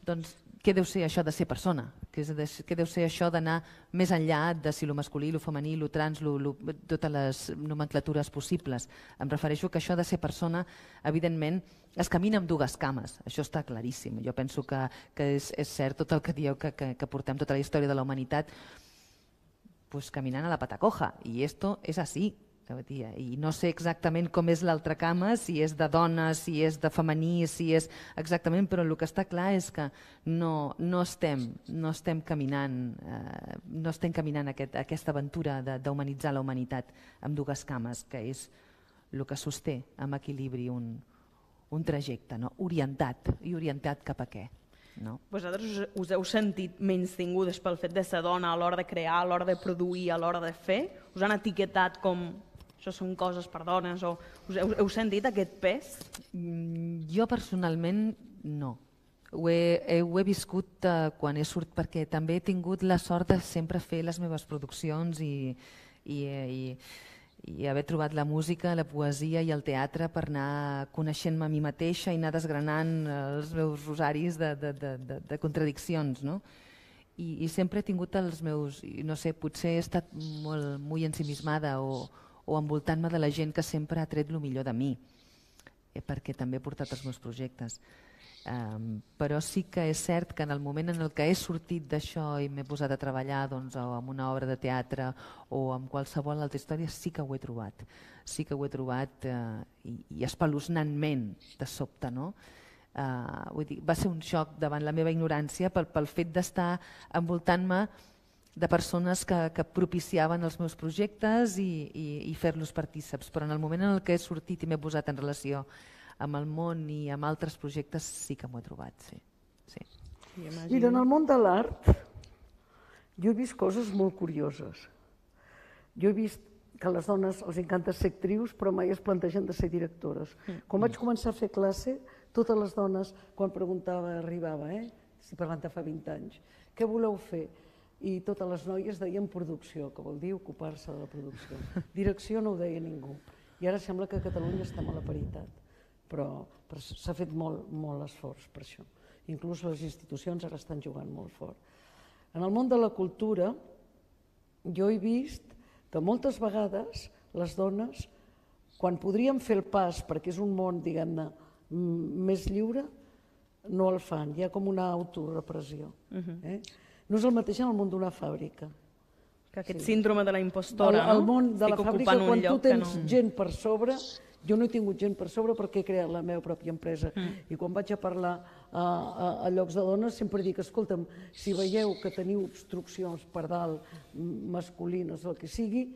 S3: doncs què deu ser això de ser persona? Què deu ser això d'anar més enllà de si lo masculí, lo femení, lo trans, lo, lo, totes les nomenclatures possibles? Em refereixo que això de ser persona, evidentment, es camina amb dues cames, això està claríssim. Jo penso que, que és, és cert tot el que dieu que, que, que portem tota la història de la humanitat pues, caminant a la pata coja, i esto és així. I no sé exactament com és l'altra cama, si és de dona, si és de femení, si és exactament, però el que està clar és que no, no, estem, no estem caminant, eh, no estem caminant aquest, aquesta aventura d'humanitzar la humanitat amb dues cames, que és el que sosté amb equilibri un, un trajecte, no? Orientat, i orientat cap a què? No?
S2: Vosaltres us heu sentit menystingudes pel fet de ser dona a l'hora de crear, a l'hora de produir, a l'hora de fer? Us han etiquetat com això són coses per dones? O us heu, heu sentit aquest pes?
S3: Mm, jo personalment no. Ho he, ho he viscut uh, quan he sortit, perquè també he tingut la sort de sempre fer les meves produccions i, i, i, i haver trobat la música, la poesia i el teatre per anar coneixent-me a mi mateixa i anar desgranant els meus rosaris de, de, de, de, de contradiccions, no? I, I sempre he tingut els meus, no sé, potser he estat molt, molt ensimismada o, o envoltant-me de la gent que sempre ha tret el millor de mi, eh, perquè també he portat els meus projectes. Um, però sí que és cert que en el moment en el que he sortit d'això i m'he posat a treballar doncs, o amb una obra de teatre o amb qualsevol altra història, sí que ho he trobat. Sí que ho he trobat uh, i, i espeluznantment de sobte, no? Uh, vull dir, va ser un xoc davant la meva ignorància pel, pel fet d'estar envoltant-me de persones que, que propiciaven els meus projectes i, i, i fer-los partíceps, però en el moment en el que he sortit i m'he posat en relació amb el món i amb altres projectes sí que m'ho he trobat, sí. sí.
S4: Mira, en el món de l'art jo he vist coses molt curioses. Jo he vist que a les dones els encanta ser actrius però mai es plantegen de ser directores. Quan vaig començar a fer classe, totes les dones, quan preguntava, arribava, eh? si parlant de fa vint anys, què voleu fer? I totes les noies deien producció, que vol dir ocupar-se de la producció. Direcció no ho deia ningú. I ara sembla que a Catalunya estem a la paritat, però, però s'ha fet molt, molt esforç per això. Inclús les institucions ara estan jugant molt fort. En el món de la cultura jo he vist que moltes vegades les dones, quan podríem fer el pas, perquè és un món, diguem-ne, més lliure, no el fan. Hi ha com una autorepressió. Eh? No és el mateix en el món d'una fàbrica.
S2: Que aquest sí. síndrome de la impostora,
S4: el, el
S2: no?
S4: món de
S2: Estic
S4: la fàbrica, quan tu tens
S2: no...
S4: gent per sobre, jo no he tingut gent per sobre perquè he creat la meva pròpia empresa. Mm. I quan vaig a parlar a, a, a llocs de dones sempre dic, escolta'm, si veieu que teniu obstruccions per dalt, masculines, el que sigui,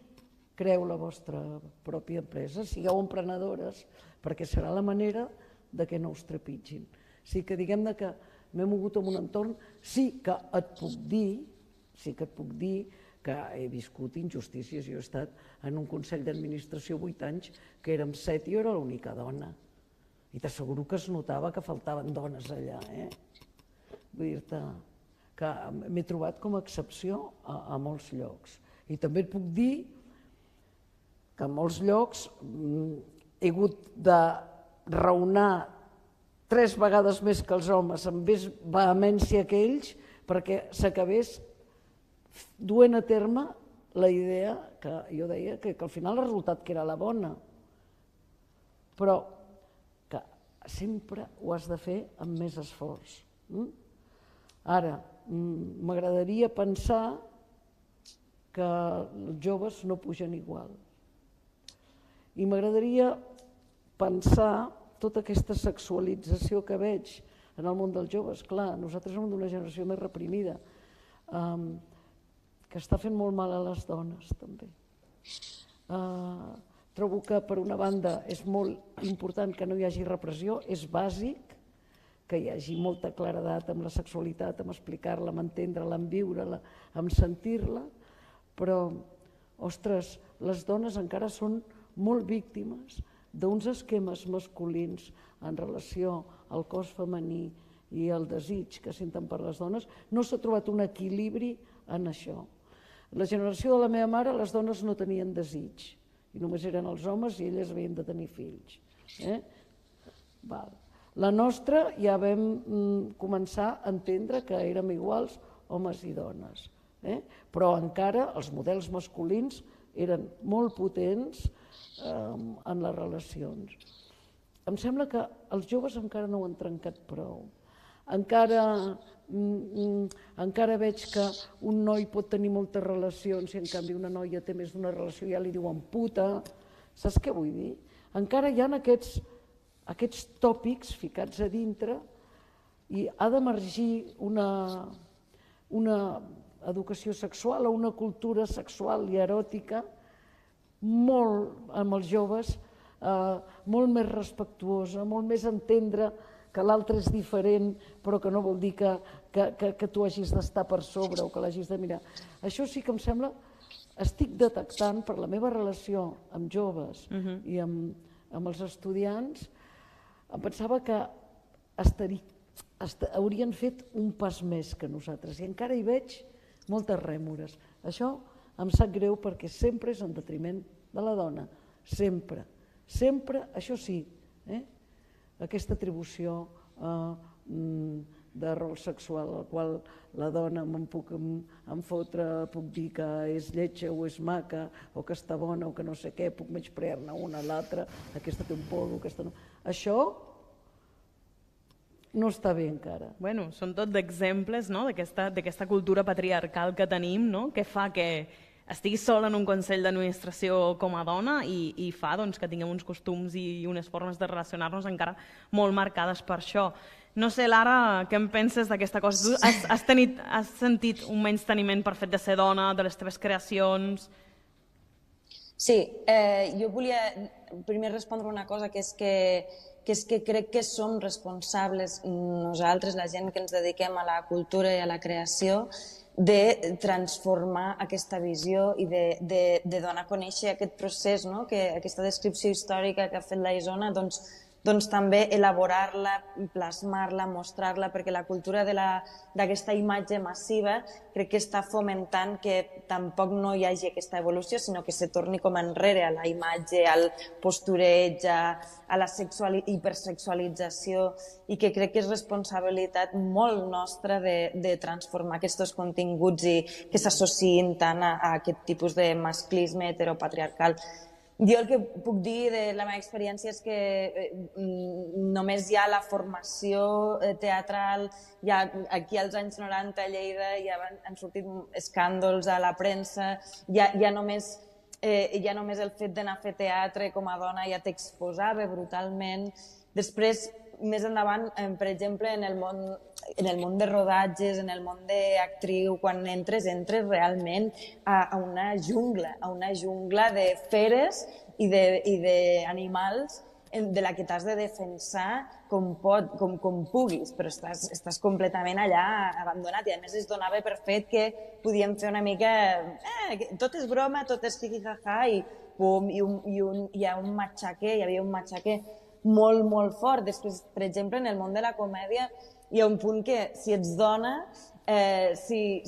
S4: creeu la vostra pròpia empresa, sigueu emprenedores, perquè serà la manera de que no us trepitgin. Sí que diguem-ne que m'he mogut en un entorn, sí que et puc dir, sí que et puc dir que he viscut injustícies. Jo he estat en un consell d'administració vuit anys, que érem set i jo era l'única dona. I t'asseguro que es notava que faltaven dones allà. Eh? Vull dir-te que m'he trobat com a excepció a, a molts llocs. I també et puc dir que en molts llocs he hagut de raonar tres vegades més que els homes, amb més vehemència que ells, perquè s'acabés duent a terme la idea que jo deia que, que al final el resultat que era la bona, però que sempre ho has de fer amb més esforç. Ara, m'agradaria pensar que els joves no pugen igual. I m'agradaria pensar tota aquesta sexualització que veig en el món dels joves. Clar, nosaltres som d'una generació més reprimida, que està fent molt mal a les dones, també. Trobo que, per una banda, és molt important que no hi hagi repressió, és bàsic que hi hagi molta claredat amb la sexualitat, amb explicar-la, amb entendre-la, amb viure-la, amb sentir-la, però, ostres, les dones encara són molt víctimes d'uns esquemes masculins en relació al cos femení i al desig que senten per les dones. No s'ha trobat un equilibri en això. La generació de la meva mare, les dones no tenien desig, i només eren els homes i elles havien de tenir fills. La nostra ja vam començar a entendre que érem iguals homes i dones, però encara els models masculins eren molt potents en les relacions. Em sembla que els joves encara no ho han trencat prou. Encara veig que un noi pot tenir moltes relacions i en canvi una noia té més d'una relació i ja li diuen puta. Saps què vull dir? Encara hi ha aquests tòpics ficats a dintre i ha d'emergir una educació sexual o una cultura sexual i eròtica molt amb els joves, molt més respectuosa, molt més entendre que l'altre és diferent, però que no vol dir que tu hagis d'estar per sobre o que l'hagis de mirar. Això sí que em sembla, estic detectant per la meva relació amb joves i amb els estudiants, em pensava que haurien fet un pas més que nosaltres i encara hi veig moltes rèmores. Això em sap greu perquè sempre és en detriment de la dona, sempre, sempre, això sí, aquesta atribució de rol sexual al qual la dona me'n puc enfotre, puc dir que és lletja o és maca o que està bona o que no sé què, puc menysprear-ne una a l'altra, aquesta té un polvo, aquesta no... Això no està bé encara.
S2: Bueno, són tot d'exemples d'aquesta cultura patriarcal que tenim, que fa que estiguis sola en un consell d'administració com a dona i fa que tinguem uns costums i unes formes de relacionar-nos encara molt marcades per això. No sé, Lara, què en penses d'aquesta cosa? Tu has sentit un menysteniment per fet de ser dona, de les teves creacions?
S5: Sí, jo volia primer respondre una cosa, que és que que és que crec que som responsables nosaltres, la gent que ens dediquem a la cultura i a la creació, de transformar aquesta visió i de donar a conèixer aquest procés, aquesta descripció històrica que ha fet la Isona, doncs també elaborar-la, plasmar-la, mostrar-la, perquè la cultura d'aquesta imatge massiva crec que està fomentant que tampoc no hi hagi aquesta evolució, sinó que se torni com enrere a la imatge, al postureig, a la hipersexualització, i que crec que és responsabilitat molt nostra de transformar aquests continguts i que s'associïn tant a aquest tipus de masclisme heteropatriarcal. Jo el que puc dir de la meva experiència és que només hi ha la formació teatral, aquí als anys noranta a Lleida ja han sortit escàndols a la premsa, ja només el fet d'anar a fer teatre com a dona ja t'exposava brutalment. Després, més endavant, per exemple, en el món de rodatges, en el món d'actriu, quan entres, entres realment a una jungla, a una jungla de feres i d'animals de la que t'has de defensar com puguis, però estàs completament allà abandonat i a més es donava per fet que podíem fer una mica... tot és broma, tot és jijijaja i pum, hi ha un matxaque, hi havia un matxaque molt, molt fort. Després, per exemple, en el món de la comèdia hi ha un punt que si ets dona, si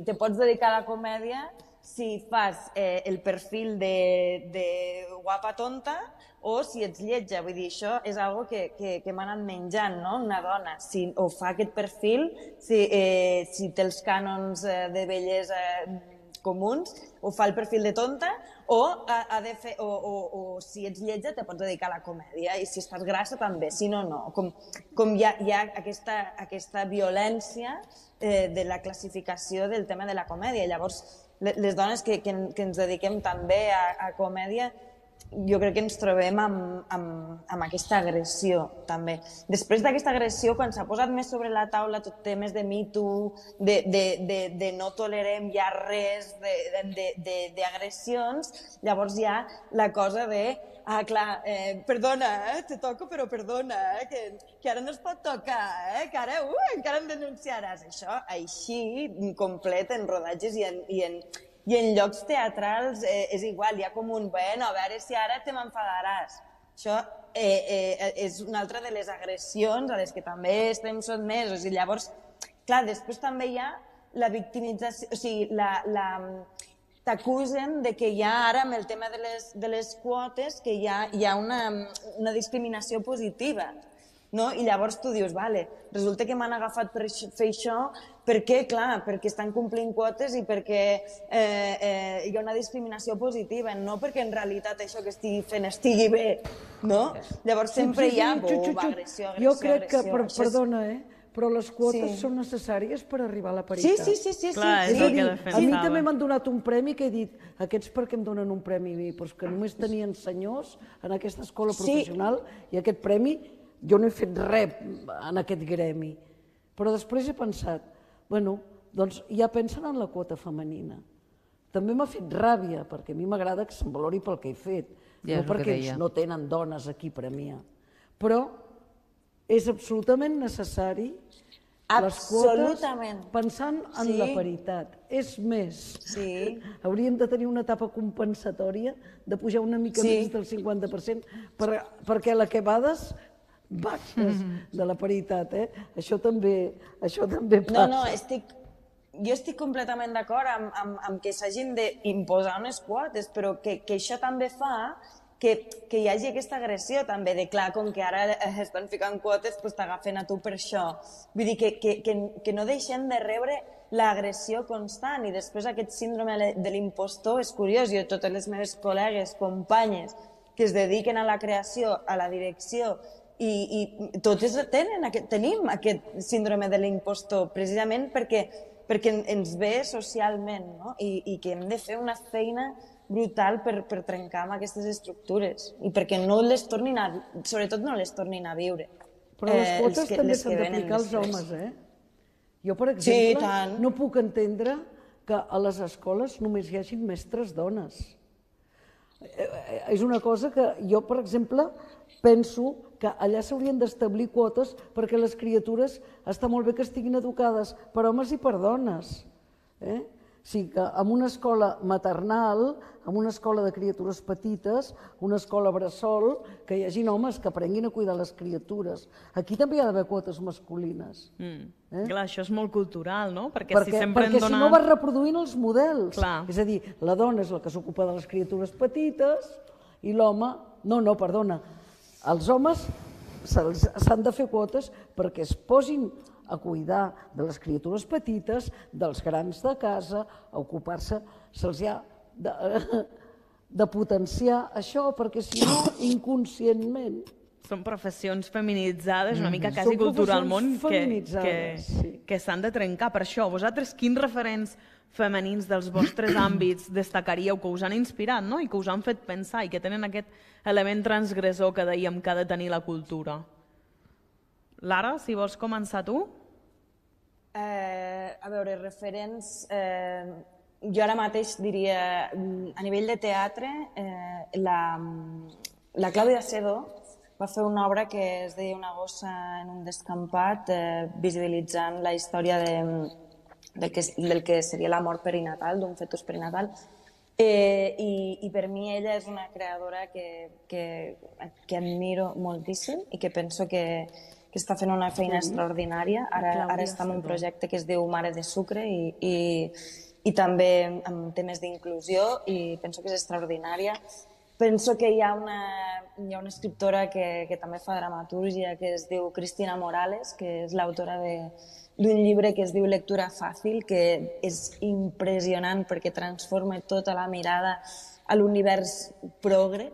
S5: te pots dedicar a la comèdia, si fas el perfil de guapa tonta o si ets lletja. Vull dir, això és una cosa que m'ha anat menjant, una dona. Si o fa aquest perfil, si té els cànons de bellesa comuns, o fa el perfil de tonta, o si ets lletja te pots dedicar a la comèdia, i si estàs grassa també, si no, no. Com hi ha aquesta violència de la classificació del tema de la comèdia. Llavors, les dones que, que, que ens dediquem també a, a comèdia, jo crec que ens trobem amb, amb, amb aquesta agressió, també. Després d'aquesta agressió, quan s'ha posat més sobre la taula tot temes de Me Too, de, de, de, de no tolerem ja res d'agressions, llavors hi ha la cosa de ah, clar, eh, perdona, eh, te toco, però perdona, eh, que, que ara no es pot tocar, eh, que ara uh, encara em denunciaràs. Això, així, complet, en rodatges i en, i en, i en llocs teatrals eh, és igual, hi ha com un, bueno, a veure si ara te m'enfadaràs. Això eh, eh, és una altra de les agressions a les que també estem sotmesos. I llavors, clar, després també hi ha la victimització, o sigui, la... la t'acusen de que hi ha ara, amb el tema de les, de les quotes, que hi ha, hi ha una, una discriminació positiva. No? I llavors tu dius, vale, resulta que m'han agafat per fer això, per què? Clar, perquè estan complint quotes i perquè eh, eh, hi ha una discriminació positiva, no perquè en realitat això que estigui fent estigui bé, no? Llavors sempre hi ha agressió, agressió,
S4: Jo crec que,
S5: agressió.
S4: perdona, eh? Però les quotes
S5: Sí.
S4: són necessàries per arribar a la paritat.
S5: Sí, sí, sí, sí.
S1: Clar,
S5: sí,
S1: és
S5: sí.
S1: el que
S4: A
S1: defensava.
S4: mi també m'han donat un premi que he dit, aquests per què em donen un premi a mi? Doncs que només tenien senyors en aquesta escola
S5: Sí.
S4: professional i aquest premi, jo no he fet res en aquest gremi. Però després he pensat, bueno, doncs ja pensen en la quota femenina. També m'ha fet ràbia, perquè a mi m'agrada que se'm valori pel que he fet,
S3: Ja és
S4: no
S3: el que
S4: perquè
S3: deia.
S4: ells no tenen dones aquí a premiar. Però és absolutament necessari les quotes
S5: Absolutament.
S4: pensant en
S5: Sí.
S4: la paritat. És més,
S5: Sí.
S4: hauríem de tenir una etapa compensatòria de pujar una mica
S5: Sí.
S4: més del cinquanta per cent per, perquè la que vades baixes de la paritat. Eh? Això, també, això també passa.
S5: No, no, estic, jo estic completament d'acord amb, amb, amb que s'hagin d'imposar unes quotes, però que, que això també fa que, que hi hagi aquesta agressió també, de clar, com que ara estan ficant quotes, doncs t'agafen a tu per això. Vull dir que, que, que, que no deixem de rebre l'agressió constant i després aquest síndrome de l'impostor és curiós. Jo, totes les meves col·legues, companyes, que es dediquen a la creació, a la direcció, i, i totes tenen aquest, tenim aquest síndrome de l'impostor, precisament perquè, perquè ens ve socialment, no? I, i que hem de fer una feina brutal per, per trencar amb aquestes estructures i perquè no les tornin a, sobretot no les tornin a viure.
S4: Però les
S5: Eh,
S4: quotes
S5: els que-
S4: també
S5: les
S4: s'han
S5: que venen
S4: d'aplicar als
S5: després.
S4: homes, eh? Jo, per
S5: Sí,
S4: exemple,
S5: tant.
S4: no puc entendre que a les escoles només hi hagin mestres dones. Eh, eh, És una cosa que jo, per exemple, penso que allà s'haurien d'establir quotes perquè les criatures està molt bé que estiguin educades per homes i per dones. Eh? O sigui que en una escola maternal, en una escola de criatures petites, una escola bressol, que hi hagi homes que aprenguin a cuidar les criatures. Aquí també hi ha d'haver quotes masculines.
S2: Mm.
S4: Eh?
S2: Clar, això és molt cultural, no? Perquè,
S4: Perquè,
S2: si sempre
S4: perquè
S2: en dona...
S4: si no vas reproduint els models.
S2: Clar.
S4: És a dir, la dona és la que s'ocupa de les criatures petites i l'home... No, no, perdona. Els homes se'ls- s'han de fer quotes perquè es posin a cuidar de les criatures petites, dels grans de casa, a ocupar-se, se'ls ha de, de potenciar això, perquè si no, inconscientment...
S2: Són professions feminitzades, una mica
S4: Són
S2: quasi culturalment,
S4: professions
S2: que,
S4: feminitzades,
S2: que,
S4: sí.
S2: que s'han de trencar. Per això, vosaltres quins referents femenins dels vostres àmbits destacaríeu que us han inspirat, no? I que us han fet pensar i que tenen aquest element transgressor que dèiem que ha de tenir la cultura? Lara, si vols començar tu?
S5: Eh, a veure, referents... Eh, jo ara mateix diria, mm, a nivell de teatre, eh, la, la Clàudia Sedó va fer una obra que es deia Una gossa en un descampat, eh, visibilitzant la història de, del, que, del que seria la mort perinatal, d'un fetus perinatal. Eh, i, I per mi ella és una creadora que, que, que admiro moltíssim i que penso que, que està fent una feina extraordinària. Ara, ara està en un projecte que es diu Mare de Sucre i, i, i també amb temes d'inclusió i penso que és extraordinària. Penso que hi ha una, hi ha una escriptora que, que també fa dramatúrgia que es diu Cristina Morales, que és l'autora d'un llibre que es diu Lectura fàcil, que és impressionant perquè transforma tota la mirada a l'univers progre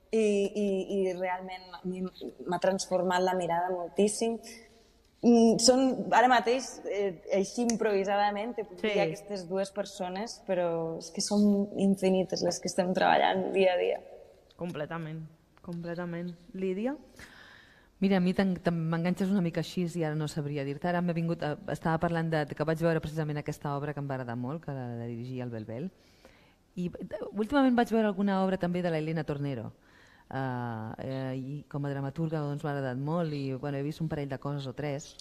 S5: i, i, i realment a mi m'ha transformat la mirada moltíssim. Són, ara mateix, eh, així improvisadament, te puc
S2: Sí.
S5: dir aquestes dues persones, però és que són infinites les que estem treballant dia a dia.
S2: Completament, completament. Lídia?
S3: Mira, a mi t'en- t'en- m'enganxes una mica així i ara no sabria dir-te. Ara m'he vingut, a- estava parlant de, que vaig veure precisament aquesta obra que em va agradar molt, que la de dirigir el Belbel. I eh, últimament vaig veure alguna obra també de la Elena Tornero. Uh, eh, i com a dramaturga doncs, m'ha agradat molt i bueno, he vist un parell de coses o tres.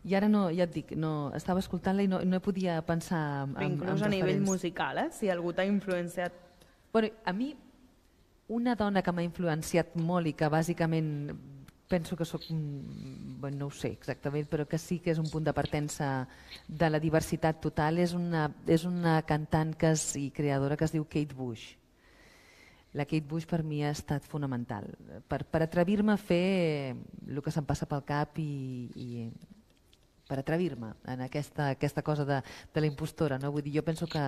S3: I ara no, ja et dic, no, estava escoltant-la i no, no podia pensar en,
S2: Però
S3: en,
S2: inclús
S3: en
S2: a nivell
S3: referents.
S2: musical, eh? Si algú t'ha influenciat.
S3: Bueno, a mi, una dona que m'ha influenciat molt i que bàsicament penso que sóc, un- bueno, no ho sé exactament, però que sí que és un punt de partença de la diversitat total, és una, és una cantant que és, i creadora que es diu Kate Bush. La Kate Bush per mi ha estat fonamental, per, per atrevir-me a fer el que se'm passa pel cap i, i per atrevir-me en aquesta, aquesta cosa de, de la impostora. No? Vull dir, jo penso que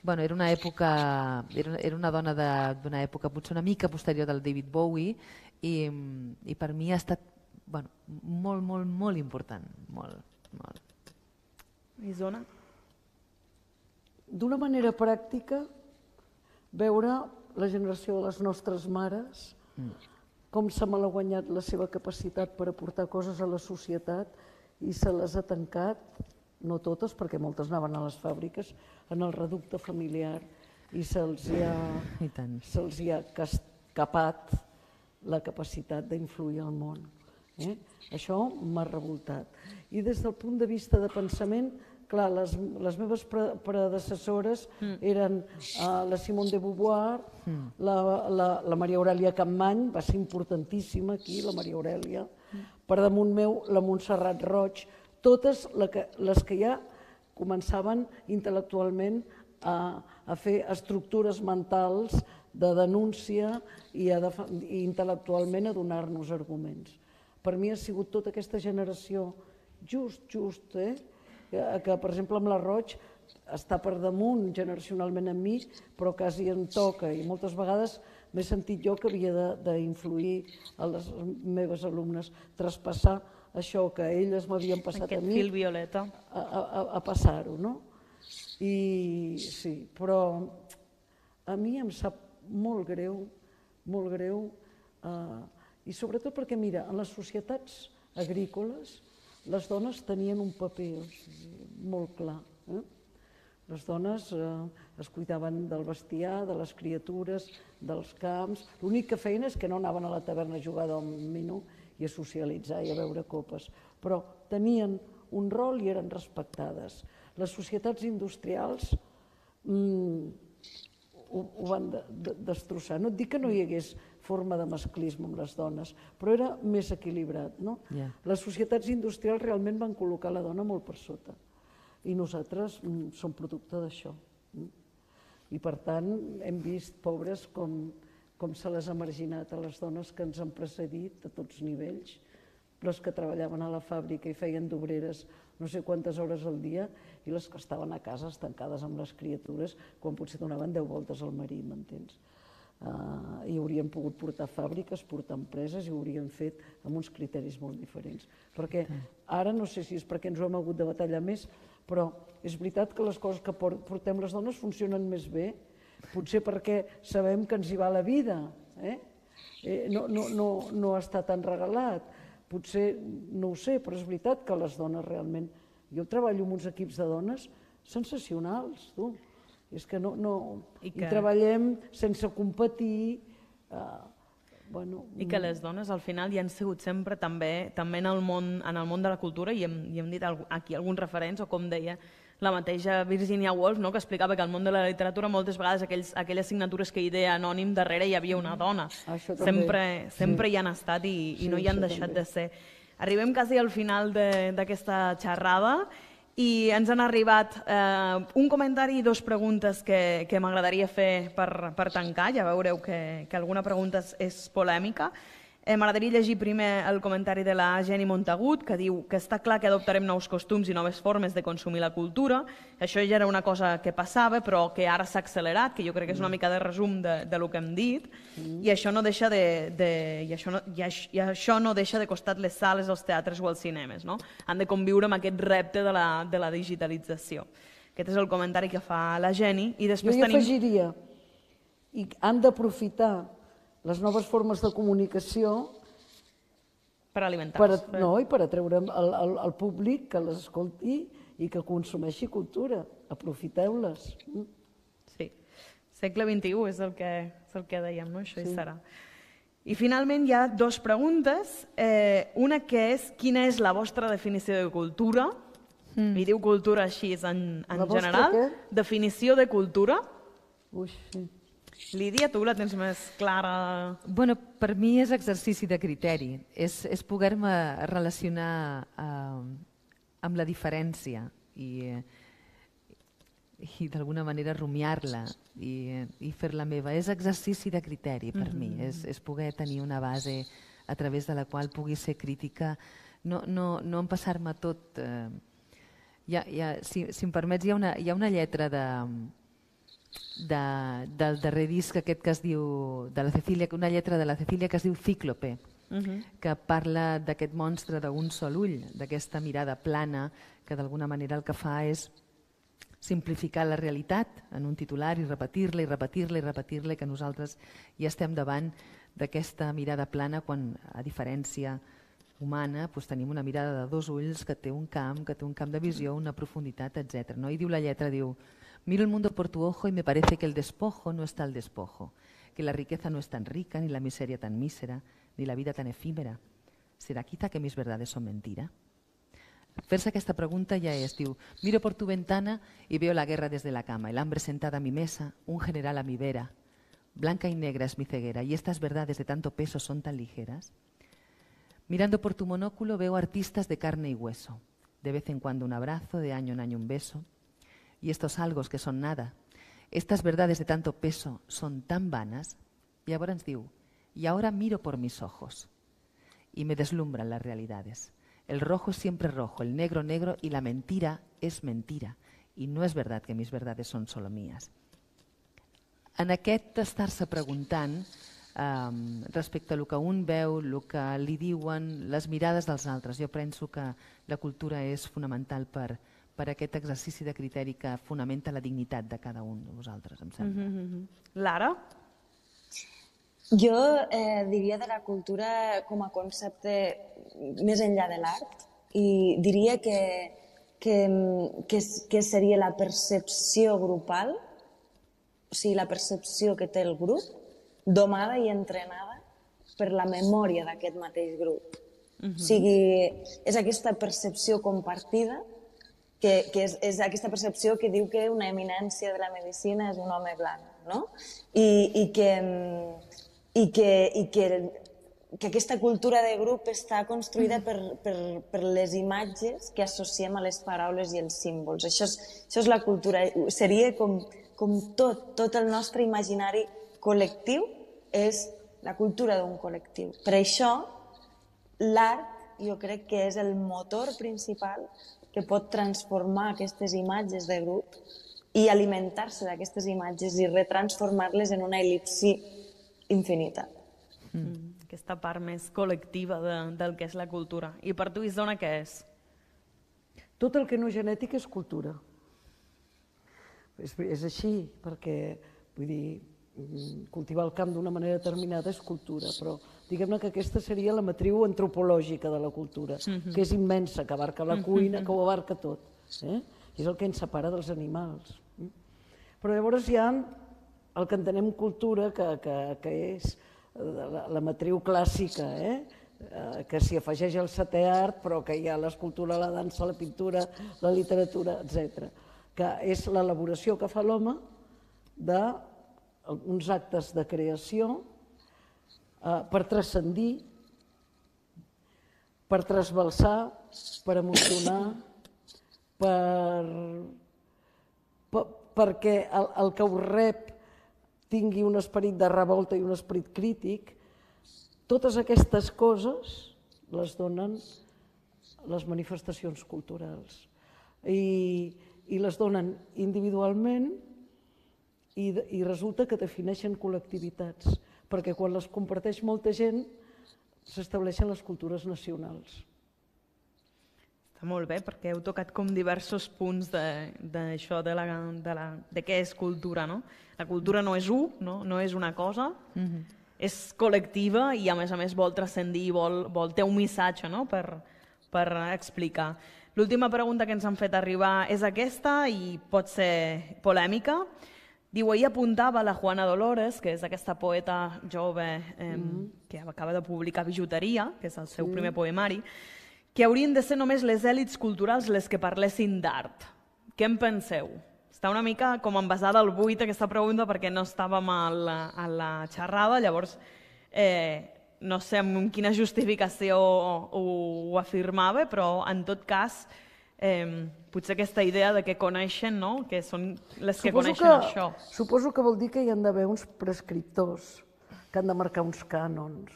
S3: bueno, era una època, era, era una dona de- d'una època potser una mica posterior del David Bowie i, i per mi ha estat bueno, molt, molt, molt important. Molt, molt.
S2: Isona?
S4: D'una manera pràctica, veure la generació de les nostres mares, com s'ha malaguanyat la seva capacitat per aportar coses a la societat i se les ha tancat, no totes, perquè moltes anaven a les fàbriques, en el reducte familiar i se'ls hi ha,
S3: I tant.
S4: se'ls hi ha escapat la capacitat d'influir al món. Eh? Això m'ha revoltat. I des del punt de vista de pensament, clar, les, les meves pre predecessores mm. eren uh, la Simone de Beauvoir, mm. la, la, la Maria Aurèlia Capmany, va ser importantíssima aquí, la Maria Aurèlia, mm. per damunt meu la Montserrat Roig, totes la que, les que ja començaven intel·lectualment a, a fer estructures mentals de denúncia i, a def i intel·lectualment a donar-nos arguments. Per mi ha sigut tota aquesta generació just, just, eh? que per exemple amb la Roig està per damunt generacionalment amb mi, però quasi em toca i moltes vegades m'he sentit jo que havia d'influir a les meves alumnes, traspassar això que elles m'havien passat
S2: Aquest
S4: a mi,
S2: fil violeta.
S4: a, a, a passar-ho, no? I sí, però a mi em sap molt greu, molt greu, eh, i sobretot perquè, mira, en les societats agrícoles les dones tenien un paper o sigui, molt clar. Eh? Les dones eh, es cuidaven del bestiar, de les criatures, dels camps. L'únic que feien és que no anaven a la taverna a jugar domino i a socialitzar i a beure copes, però tenien un rol i eren respectades. Les societats industrials mm, ho, ho van de, de, destrossar. No et dic que no hi hagués forma de masclisme amb les dones, però era més equilibrat. No?
S3: Yeah.
S4: Les societats industrials realment van col·locar la dona molt per sota i nosaltres mm, som producte d'això. Mm? I per tant hem vist, pobres, com, com se les ha marginat a les dones que ens han precedit a tots nivells, les que treballaven a la fàbrica i feien d'obreres no sé quantes hores al dia i les que estaven a casa estancades amb les criatures quan potser donaven deu voltes al marit, m'entens? Uh, i haurien pogut portar fàbriques, portar empreses i ho haurien fet amb uns criteris molt diferents. Perquè ara no sé si és perquè ens ho hem hagut de batallar més, però és veritat que les coses que portem les dones funcionen més bé, potser perquè sabem que ens hi va la vida, eh? Eh, no, no, no, no està tan regalat, potser no ho sé, però és veritat que les dones realment... Jo treballo amb uns equips de dones sensacionals, tu. És que no... no I, que... I treballem sense competir. Uh, bueno,
S2: I que les dones al final hi han sigut sempre també, també en, el món, en el món de la cultura, i hem, i hem dit aquí alguns referents, o com deia la mateixa Virginia Woolf, no? Que explicava que al món de la literatura moltes vegades aquells, aquelles signatures que hi deia anònim darrere hi havia una dona. Sempre, sempre
S4: sí.
S2: hi han estat i, i
S4: sí,
S2: no hi han deixat també. de ser. Arribem quasi al final d'aquesta xerrada i ens han arribat eh, un comentari i dues preguntes que, que m'agradaria fer per, per tancar. Ja veureu que, que alguna pregunta és, és polèmica. Eh, M'agradaria llegir primer el comentari de la Jenny Montagut, que diu que està clar que adoptarem nous costums i noves formes de consumir la cultura. Això ja era una cosa que passava, però que ara s'ha accelerat, que jo crec que és una mica de resum de, de lo que hem dit, mm. i, això no deixa de, de, i, això no, i, això, i això no deixa de costat les sales, els teatres o els cinemes. No? Han de conviure amb aquest repte de la, de la digitalització. Aquest és el comentari que fa la Jenny. I després
S4: jo hi
S2: tenim...
S4: afegiria, i han d'aprofitar les noves formes de comunicació
S2: per alimentar-se.
S4: Per, no, i per atreure el, el, el públic que les escolti i que consumeixi cultura. Aprofiteu-les.
S2: Sí. Segle vint-i-u és el que, és el que dèiem, no? Això sí. Hi serà. I finalment hi ha dues preguntes. Eh, una que és, quina és la vostra definició de cultura? Mm. I diu cultura així en, en general. Què? Definició de cultura?
S4: Ui, sí.
S2: Lídia, tu la tens més clara?
S3: Bueno, per mi és exercici de criteri, és, és poder-me relacionar eh, amb la diferència i, i d'alguna manera rumiar-la i, i fer-la meva. És exercici de criteri per mm-hmm. mi, és, és poder tenir una base a través de la qual pugui ser crítica, no, no, no empassar-me tot. Eh, hi ha, hi ha, si, si em permets, hi ha una, hi ha una lletra de... De, del darrer disc aquest que es diu de la Cecília, una lletra de la Cecília que es diu Cíclope, uh-huh. que parla d'aquest monstre d'un sol ull, d'aquesta mirada plana que d'alguna manera el que fa és simplificar la realitat en un titular i repetir-la i repetir-la i repetir-la, que nosaltres ja estem davant d'aquesta mirada plana quan, a diferència humana, doncs tenim una mirada de dos ulls que té un camp, que té un camp de visió, una profunditat, etcètera. No? I diu la lletra, diu: miro el mundo por tu ojo y me parece que el despojo no está al despojo, que la riqueza no es tan rica, ni la miseria tan mísera, ni la vida tan efímera. ¿Será quizá que mis verdades son mentira? Fer-se aquesta pregunta ja és, diu, miro por tu ventana y veo la guerra desde la cama, el hambre sentada a mi mesa, un general a mi vera, blanca y negra es mi ceguera, y estas verdades de tanto peso son tan ligeras. Mirando por tu monóculo veo artistas de carne y hueso, de vez en cuando un abrazo, de año en año un beso, y estos algos que son nada, estas verdades de tanto peso son tan vanas, y ahora ens diu, y ahora miro por mis ojos, y me deslumbran las realidades. El rojo es siempre rojo, el negro negro, y la mentira es mentira, y no es verdad que mis verdades son solo mías. En aquest estar-se preguntant um, respecte a lo que un veu, el que li diuen, les mirades dels altres, jo penso que la cultura és fonamental per per aquest exercici de criteri que fonamenta la dignitat de cada un de vosaltres, em sembla.
S2: Mm-hmm. Lara?
S5: Jo eh, diria de la cultura com a concepte més enllà de l'art i diria que, que, que, que seria la percepció grupal, o sigui, la percepció que té el grup, domada i entrenada per la memòria d'aquest mateix grup. Mm-hmm. O sigui, és aquesta percepció compartida que, que és, és aquesta percepció que diu que una eminència de la medicina és un home blanc, no? I, i, que, i, que, i que, que aquesta cultura de grup està construïda per, per, per les imatges que associem a les paraules i els símbols. Això és, això és la cultura. Seria com, com tot, tot el nostre imaginari col·lectiu és la cultura d'un col·lectiu. Per això, l'art jo crec que és el motor principal que pot transformar aquestes imatges de grup i alimentar-se d'aquestes imatges i retransformar-les en una el·lipsi infinita.
S2: Mm. Aquesta part més col·lectiva de, del que és la cultura. I per tu, Isona, què és?
S4: Tot el que no és genètic és cultura. És, és així, perquè vull dir, cultivar el camp d'una manera determinada és cultura, però diguem-ne que aquesta seria la matriu antropològica de la cultura, mm-hmm. que és immensa, que abarca la cuina, que ho abarca tot. Eh? És el que ens separa dels animals. Però llavors hi ha el que entenem cultura, que, que, que és la, la matriu clàssica, eh? que s'hi afegeix el setè art, però que hi ha l'escultura, la dansa, la pintura, la literatura, etcètera, que és l'elaboració que fa l'home de uns actes de creació eh, per transcendir, per trasbalsar, per emocionar, per, per, perquè el, el que ho rep tingui un esperit de revolta i un esperit crític totes aquestes coses les donen les manifestacions culturals i, i les donen individualment i, i resulta que defineixen col·lectivitats, perquè quan les comparteix molta gent s'estableixen les cultures nacionals.
S2: Està molt bé, perquè heu tocat com diversos punts d'això, de, de, de, de, de què és cultura, no? La cultura no és un, no, no és una cosa, mm-hmm. és col·lectiva i a més a més vol transcendir, vol, vol té un missatge, no? per, per explicar. L'última pregunta que ens han fet arribar és aquesta i pot ser polèmica. Diu, ahir apuntava la Juana Dolores, que és aquesta poeta jove eh, mm-hmm. que acaba de publicar Bijuteria, que és el seu sí. primer poemari, que haurien de ser només les èlits culturals les que parlessin d'art. Què en penseu? Està una mica com envasada al buit aquesta pregunta perquè no estàvem a la, a la xerrada, llavors eh, no sé amb quina justificació ho, ho afirmava, però en tot cas eh, potser aquesta idea de que coneixen, no? Que són les que suposo coneixen que, això.
S4: Suposo que vol dir que hi han d'haver uns prescriptors que han de marcar uns cànons.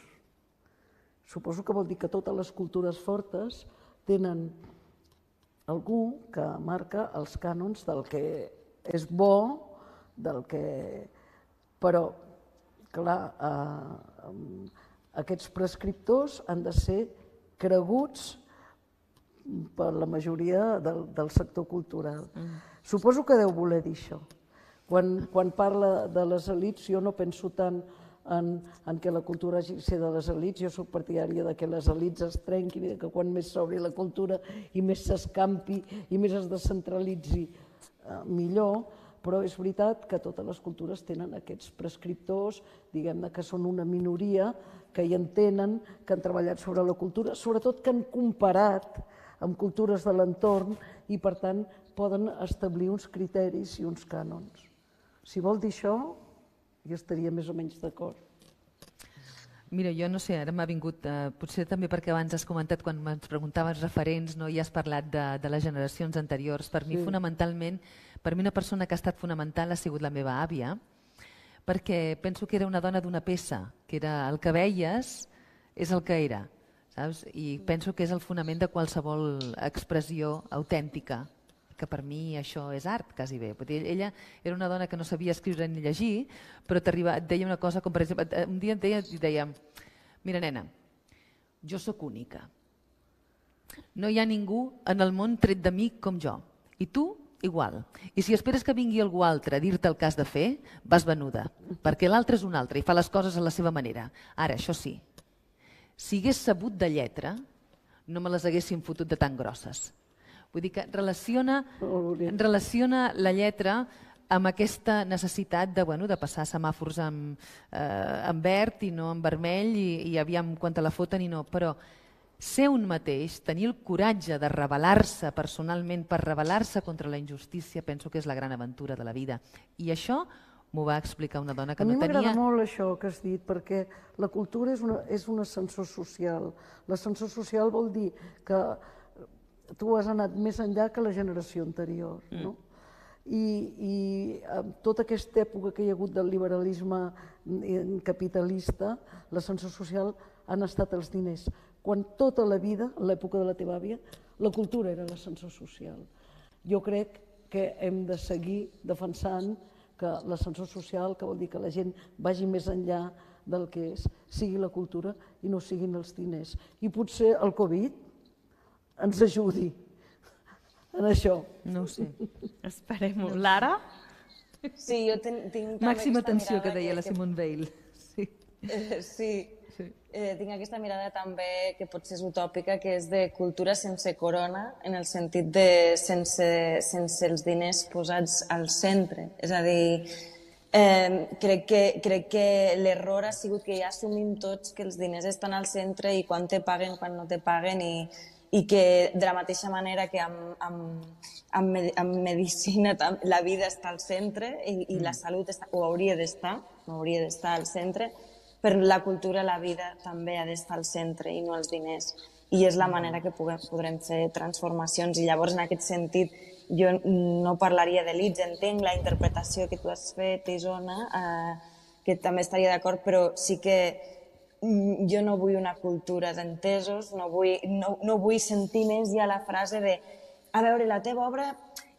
S4: Suposo que vol dir que totes les cultures fortes tenen algú que marca els cànons del que és bo, del que... Però, clar, eh, aquests prescriptors han de ser creguts per la majoria del, del sector cultural. Mm. Suposo que deu voler dir això. Quan, quan parla de les elits, jo no penso tant en, en què la cultura hagi de ser de les elits, jo soc partidària de que les elits es trenquin i que quan més s'obri la cultura i més s'escampi i més es descentralitzi, eh, millor, però és veritat que totes les cultures tenen aquests prescriptors, diguem-ne que són una minoria, que hi entenen, que han treballat sobre la cultura, sobretot que han comparat amb cultures de l'entorn i, per tant, poden establir uns criteris i uns cànons. Si vol dir això, jo estaria més o menys d'acord.
S3: Mira, jo no sé, ara m'ha vingut, eh, potser també perquè abans has comentat, quan ens preguntaves referents, no, i has parlat de, de les generacions anteriors. Per mi, sí. fonamentalment, per mi una persona que ha estat fonamental ha sigut la meva àvia, perquè penso que era una dona d'una peça, que era el que veies és el que era, saps? I penso que és el fonament de qualsevol expressió autèntica, que per mi això és art, quasi bé. Ella era una dona que no sabia escriure ni llegir, però et deia una cosa com, per exemple, un dia et deia, et deia, mira, nena, jo sóc única. No hi ha ningú en el món tret de mi com jo. I tu, igual. I si esperes que vingui algú altre a dir-te el que has de fer, vas venuda, perquè l'altre és un altre i fa les coses a la seva manera. Ara, això sí, si hagués sabut de lletra, no me les haguessin fotut de tan grosses. Vull dir que relaciona, relaciona la lletra amb aquesta necessitat de, bueno, de passar semàfors amb, eh, amb verd i no amb vermell i, i aviam quan te la foten i no. Però ser un mateix, tenir el coratge de rebel·lar-se personalment per rebel·lar-se contra la injustícia, penso que és la gran aventura de la vida. I això m'ho va explicar una dona que no tenia...
S4: A mi m'agrada molt això que has dit, perquè la cultura és, una, és un ascensor social. L'ascensor social vol dir que tu has anat més enllà que la generació anterior, no? I, i amb tota aquesta època que hi ha hagut del liberalisme capitalista, l'ascensor social han estat els diners. Quan tota la vida, a l'època de la teva àvia, la cultura era l'ascensor social. Jo crec que hem de seguir defensant que l'ascensor social, que vol dir que la gent vagi més enllà del que és, sigui la cultura i no siguin els diners. I potser el Covid ens ajudi en això.
S3: No ho sé.
S2: Esperem-ho. Lara?
S5: Sí, jo tinc també
S3: Màxima
S5: aquesta
S3: atenció
S5: mirada
S3: que deia
S5: que,
S3: la Simone Veil. Sí.
S5: Eh, sí.
S3: Sí.
S5: Eh, tinc aquesta mirada també que potser és utòpica, que és de cultura sense corona, en el sentit de sense, sense els diners posats al centre. És a dir, eh, crec que, crec que l'error ha sigut que ja assumim tots que els diners estan al centre i quan te paguen, quan no te paguen, i i que de la mateixa manera que amb, amb, amb, amb medicina la vida està al centre i, i la salut està, ho hauria d'estar, no hauria d'estar al centre, per la cultura la vida també ha d'estar al centre i no els diners. I és la manera que puguem, podrem fer transformacions. I llavors, en aquest sentit, jo no parlaria d'elits, entenc la interpretació que tu has fet, Isona, eh, que també estaria d'acord, però sí que jo no vull una cultura d'entesos, no, vull, no, no vull sentir més ja la frase de a veure, la teva obra,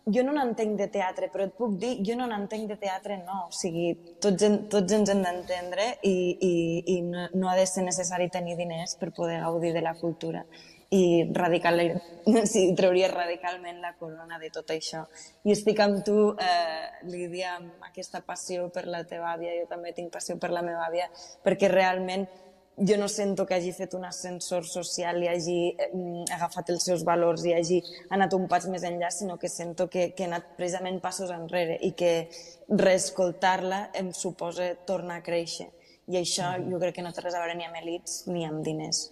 S5: jo no n'entenc de teatre, però et puc dir, jo no n'entenc de teatre, no. O sigui, tots, tots ens hem d'entendre i, i, i no, no ha de ser necessari tenir diners per poder gaudir de la cultura. I radical, sí, trauria radicalment la corona de tot això. I estic amb tu, eh, Lídia, amb aquesta passió per la teva àvia, jo també tinc passió per la meva àvia, perquè realment jo no sento que hagi fet un ascensor social i hagi eh, agafat els seus valors i hagi anat un pas més enllà, sinó que sento que, que he anat precisament passos enrere i que reescoltar-la em suposa tornar a créixer. I això mm-hmm. jo crec que no té res a veure ni amb elits ni amb diners.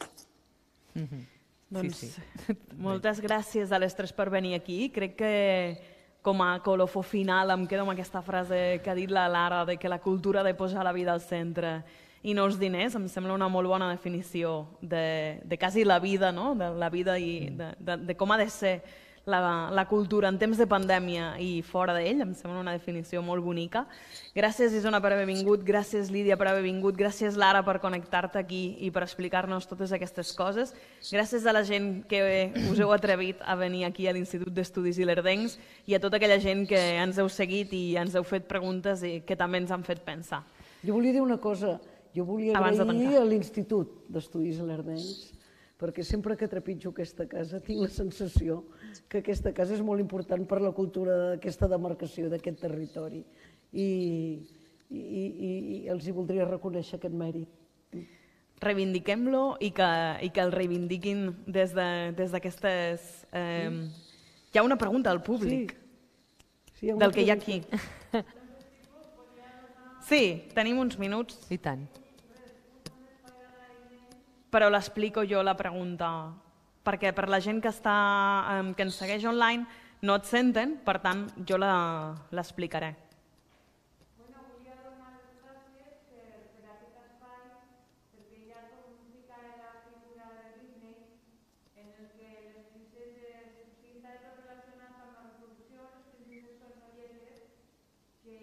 S2: Mm-hmm. Doncs sí, sí. Moltes gràcies a les tres per venir aquí. Crec que com a colofó final em quedo amb aquesta frase que ha dit la Lara de que la cultura ha de posar la vida al centre i no els diners. Em sembla una molt bona definició de, de quasi la vida, no? De la vida i de, de, de com ha de ser la, la cultura en temps de pandèmia i fora d'ell. Em sembla una definició molt bonica. Gràcies, Isona, per haver vingut. Gràcies, Lídia, per haver vingut. Gràcies, Lara, per connectar-te aquí i per explicar-nos totes aquestes coses. Gràcies a la gent que us heu atrevit a venir aquí a l'Institut d'Estudis Ilerdencs i a tota aquella gent que ens heu seguit i ens heu fet preguntes i que també ens han fet pensar.
S4: Jo volia dir una cosa. Jo volia agrair a l'Institut d'Estudis Ilerdencs, perquè sempre que trepitjo aquesta casa tinc la sensació que aquesta casa és molt important per la cultura d'aquesta demarcació, d'aquest territori. I, i, i, i els hi voldria reconèixer aquest mèrit.
S2: Reivindiquem-lo i, que, i que el reivindiquin des d'aquestes... De, eh, hi ha una pregunta al públic, sí. Sí, del que hi ha aquí. Sí, tenim uns minuts.
S3: I tant.
S2: Però l'explico jo, la pregunta, perquè per la gent que, està, que ens segueix online no et senten, per tant, jo l'explicaré.
S6: Bueno, volia donar les gràcies per, per aquest espai, perquè ja com ficar la figura de Disney, en el que les princeses pinten tot relacionat amb la reproducció, les princeses són folletes, que,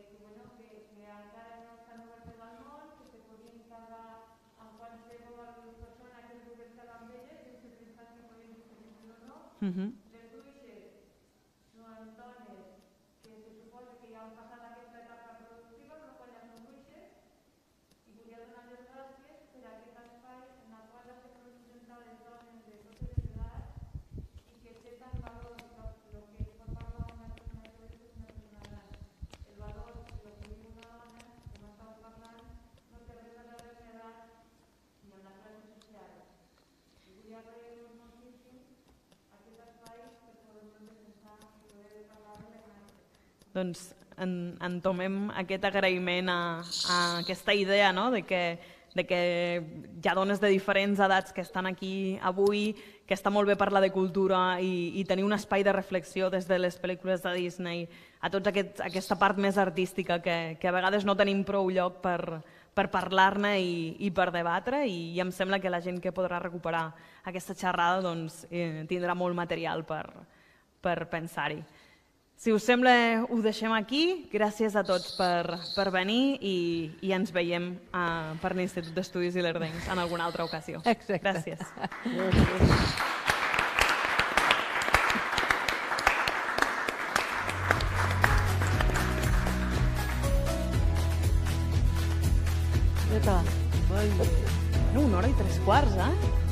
S6: que, bueno, que, que encara no estan obertes al món, que se podien quedar amb qualsevol persona que es volgués quedar amb elles, sense pensar que podien ser o no.
S2: Uh-huh.
S6: Les bruixes són dones que se suposa que ja han passat aquesta etapa reproductiva, però quan ja són bruixes, i volia donar les gràcies per aquest espai en el qual es representen les dones de totes les edats i que té tant valor el que es pot parlar d'una persona que és una persona gran. El valor del que viu una dona, com estàvem parlant, no té res a veure amb l'edat ni amb la classe social. I volia agrair-vos moltíssim aquest espai per poder defensar i poder parlar-ne més.
S2: Doncs en, entomem aquest agraïment a, a aquesta idea, no? de, que, de que hi ha dones de diferents edats que estan aquí avui, que està molt bé parlar de cultura i, i tenir un espai de reflexió des de les pel·lícules de Disney a tota aquest, aquesta part més artística que, que a vegades no tenim prou lloc per, per parlar-ne i, i per debatre, i, i em sembla que la gent que podrà recuperar aquesta xerrada doncs, eh, tindrà molt material per, per pensar-hi. Si us sembla, ho deixem aquí. Gràcies a tots per, per venir i, i ens veiem uh, per l'Institut d'Estudis Ilerdencs en alguna altra ocasió.
S3: Exacte.
S2: Gràcies.
S4: Ja està.
S2: No, una hora i tres quarts, eh?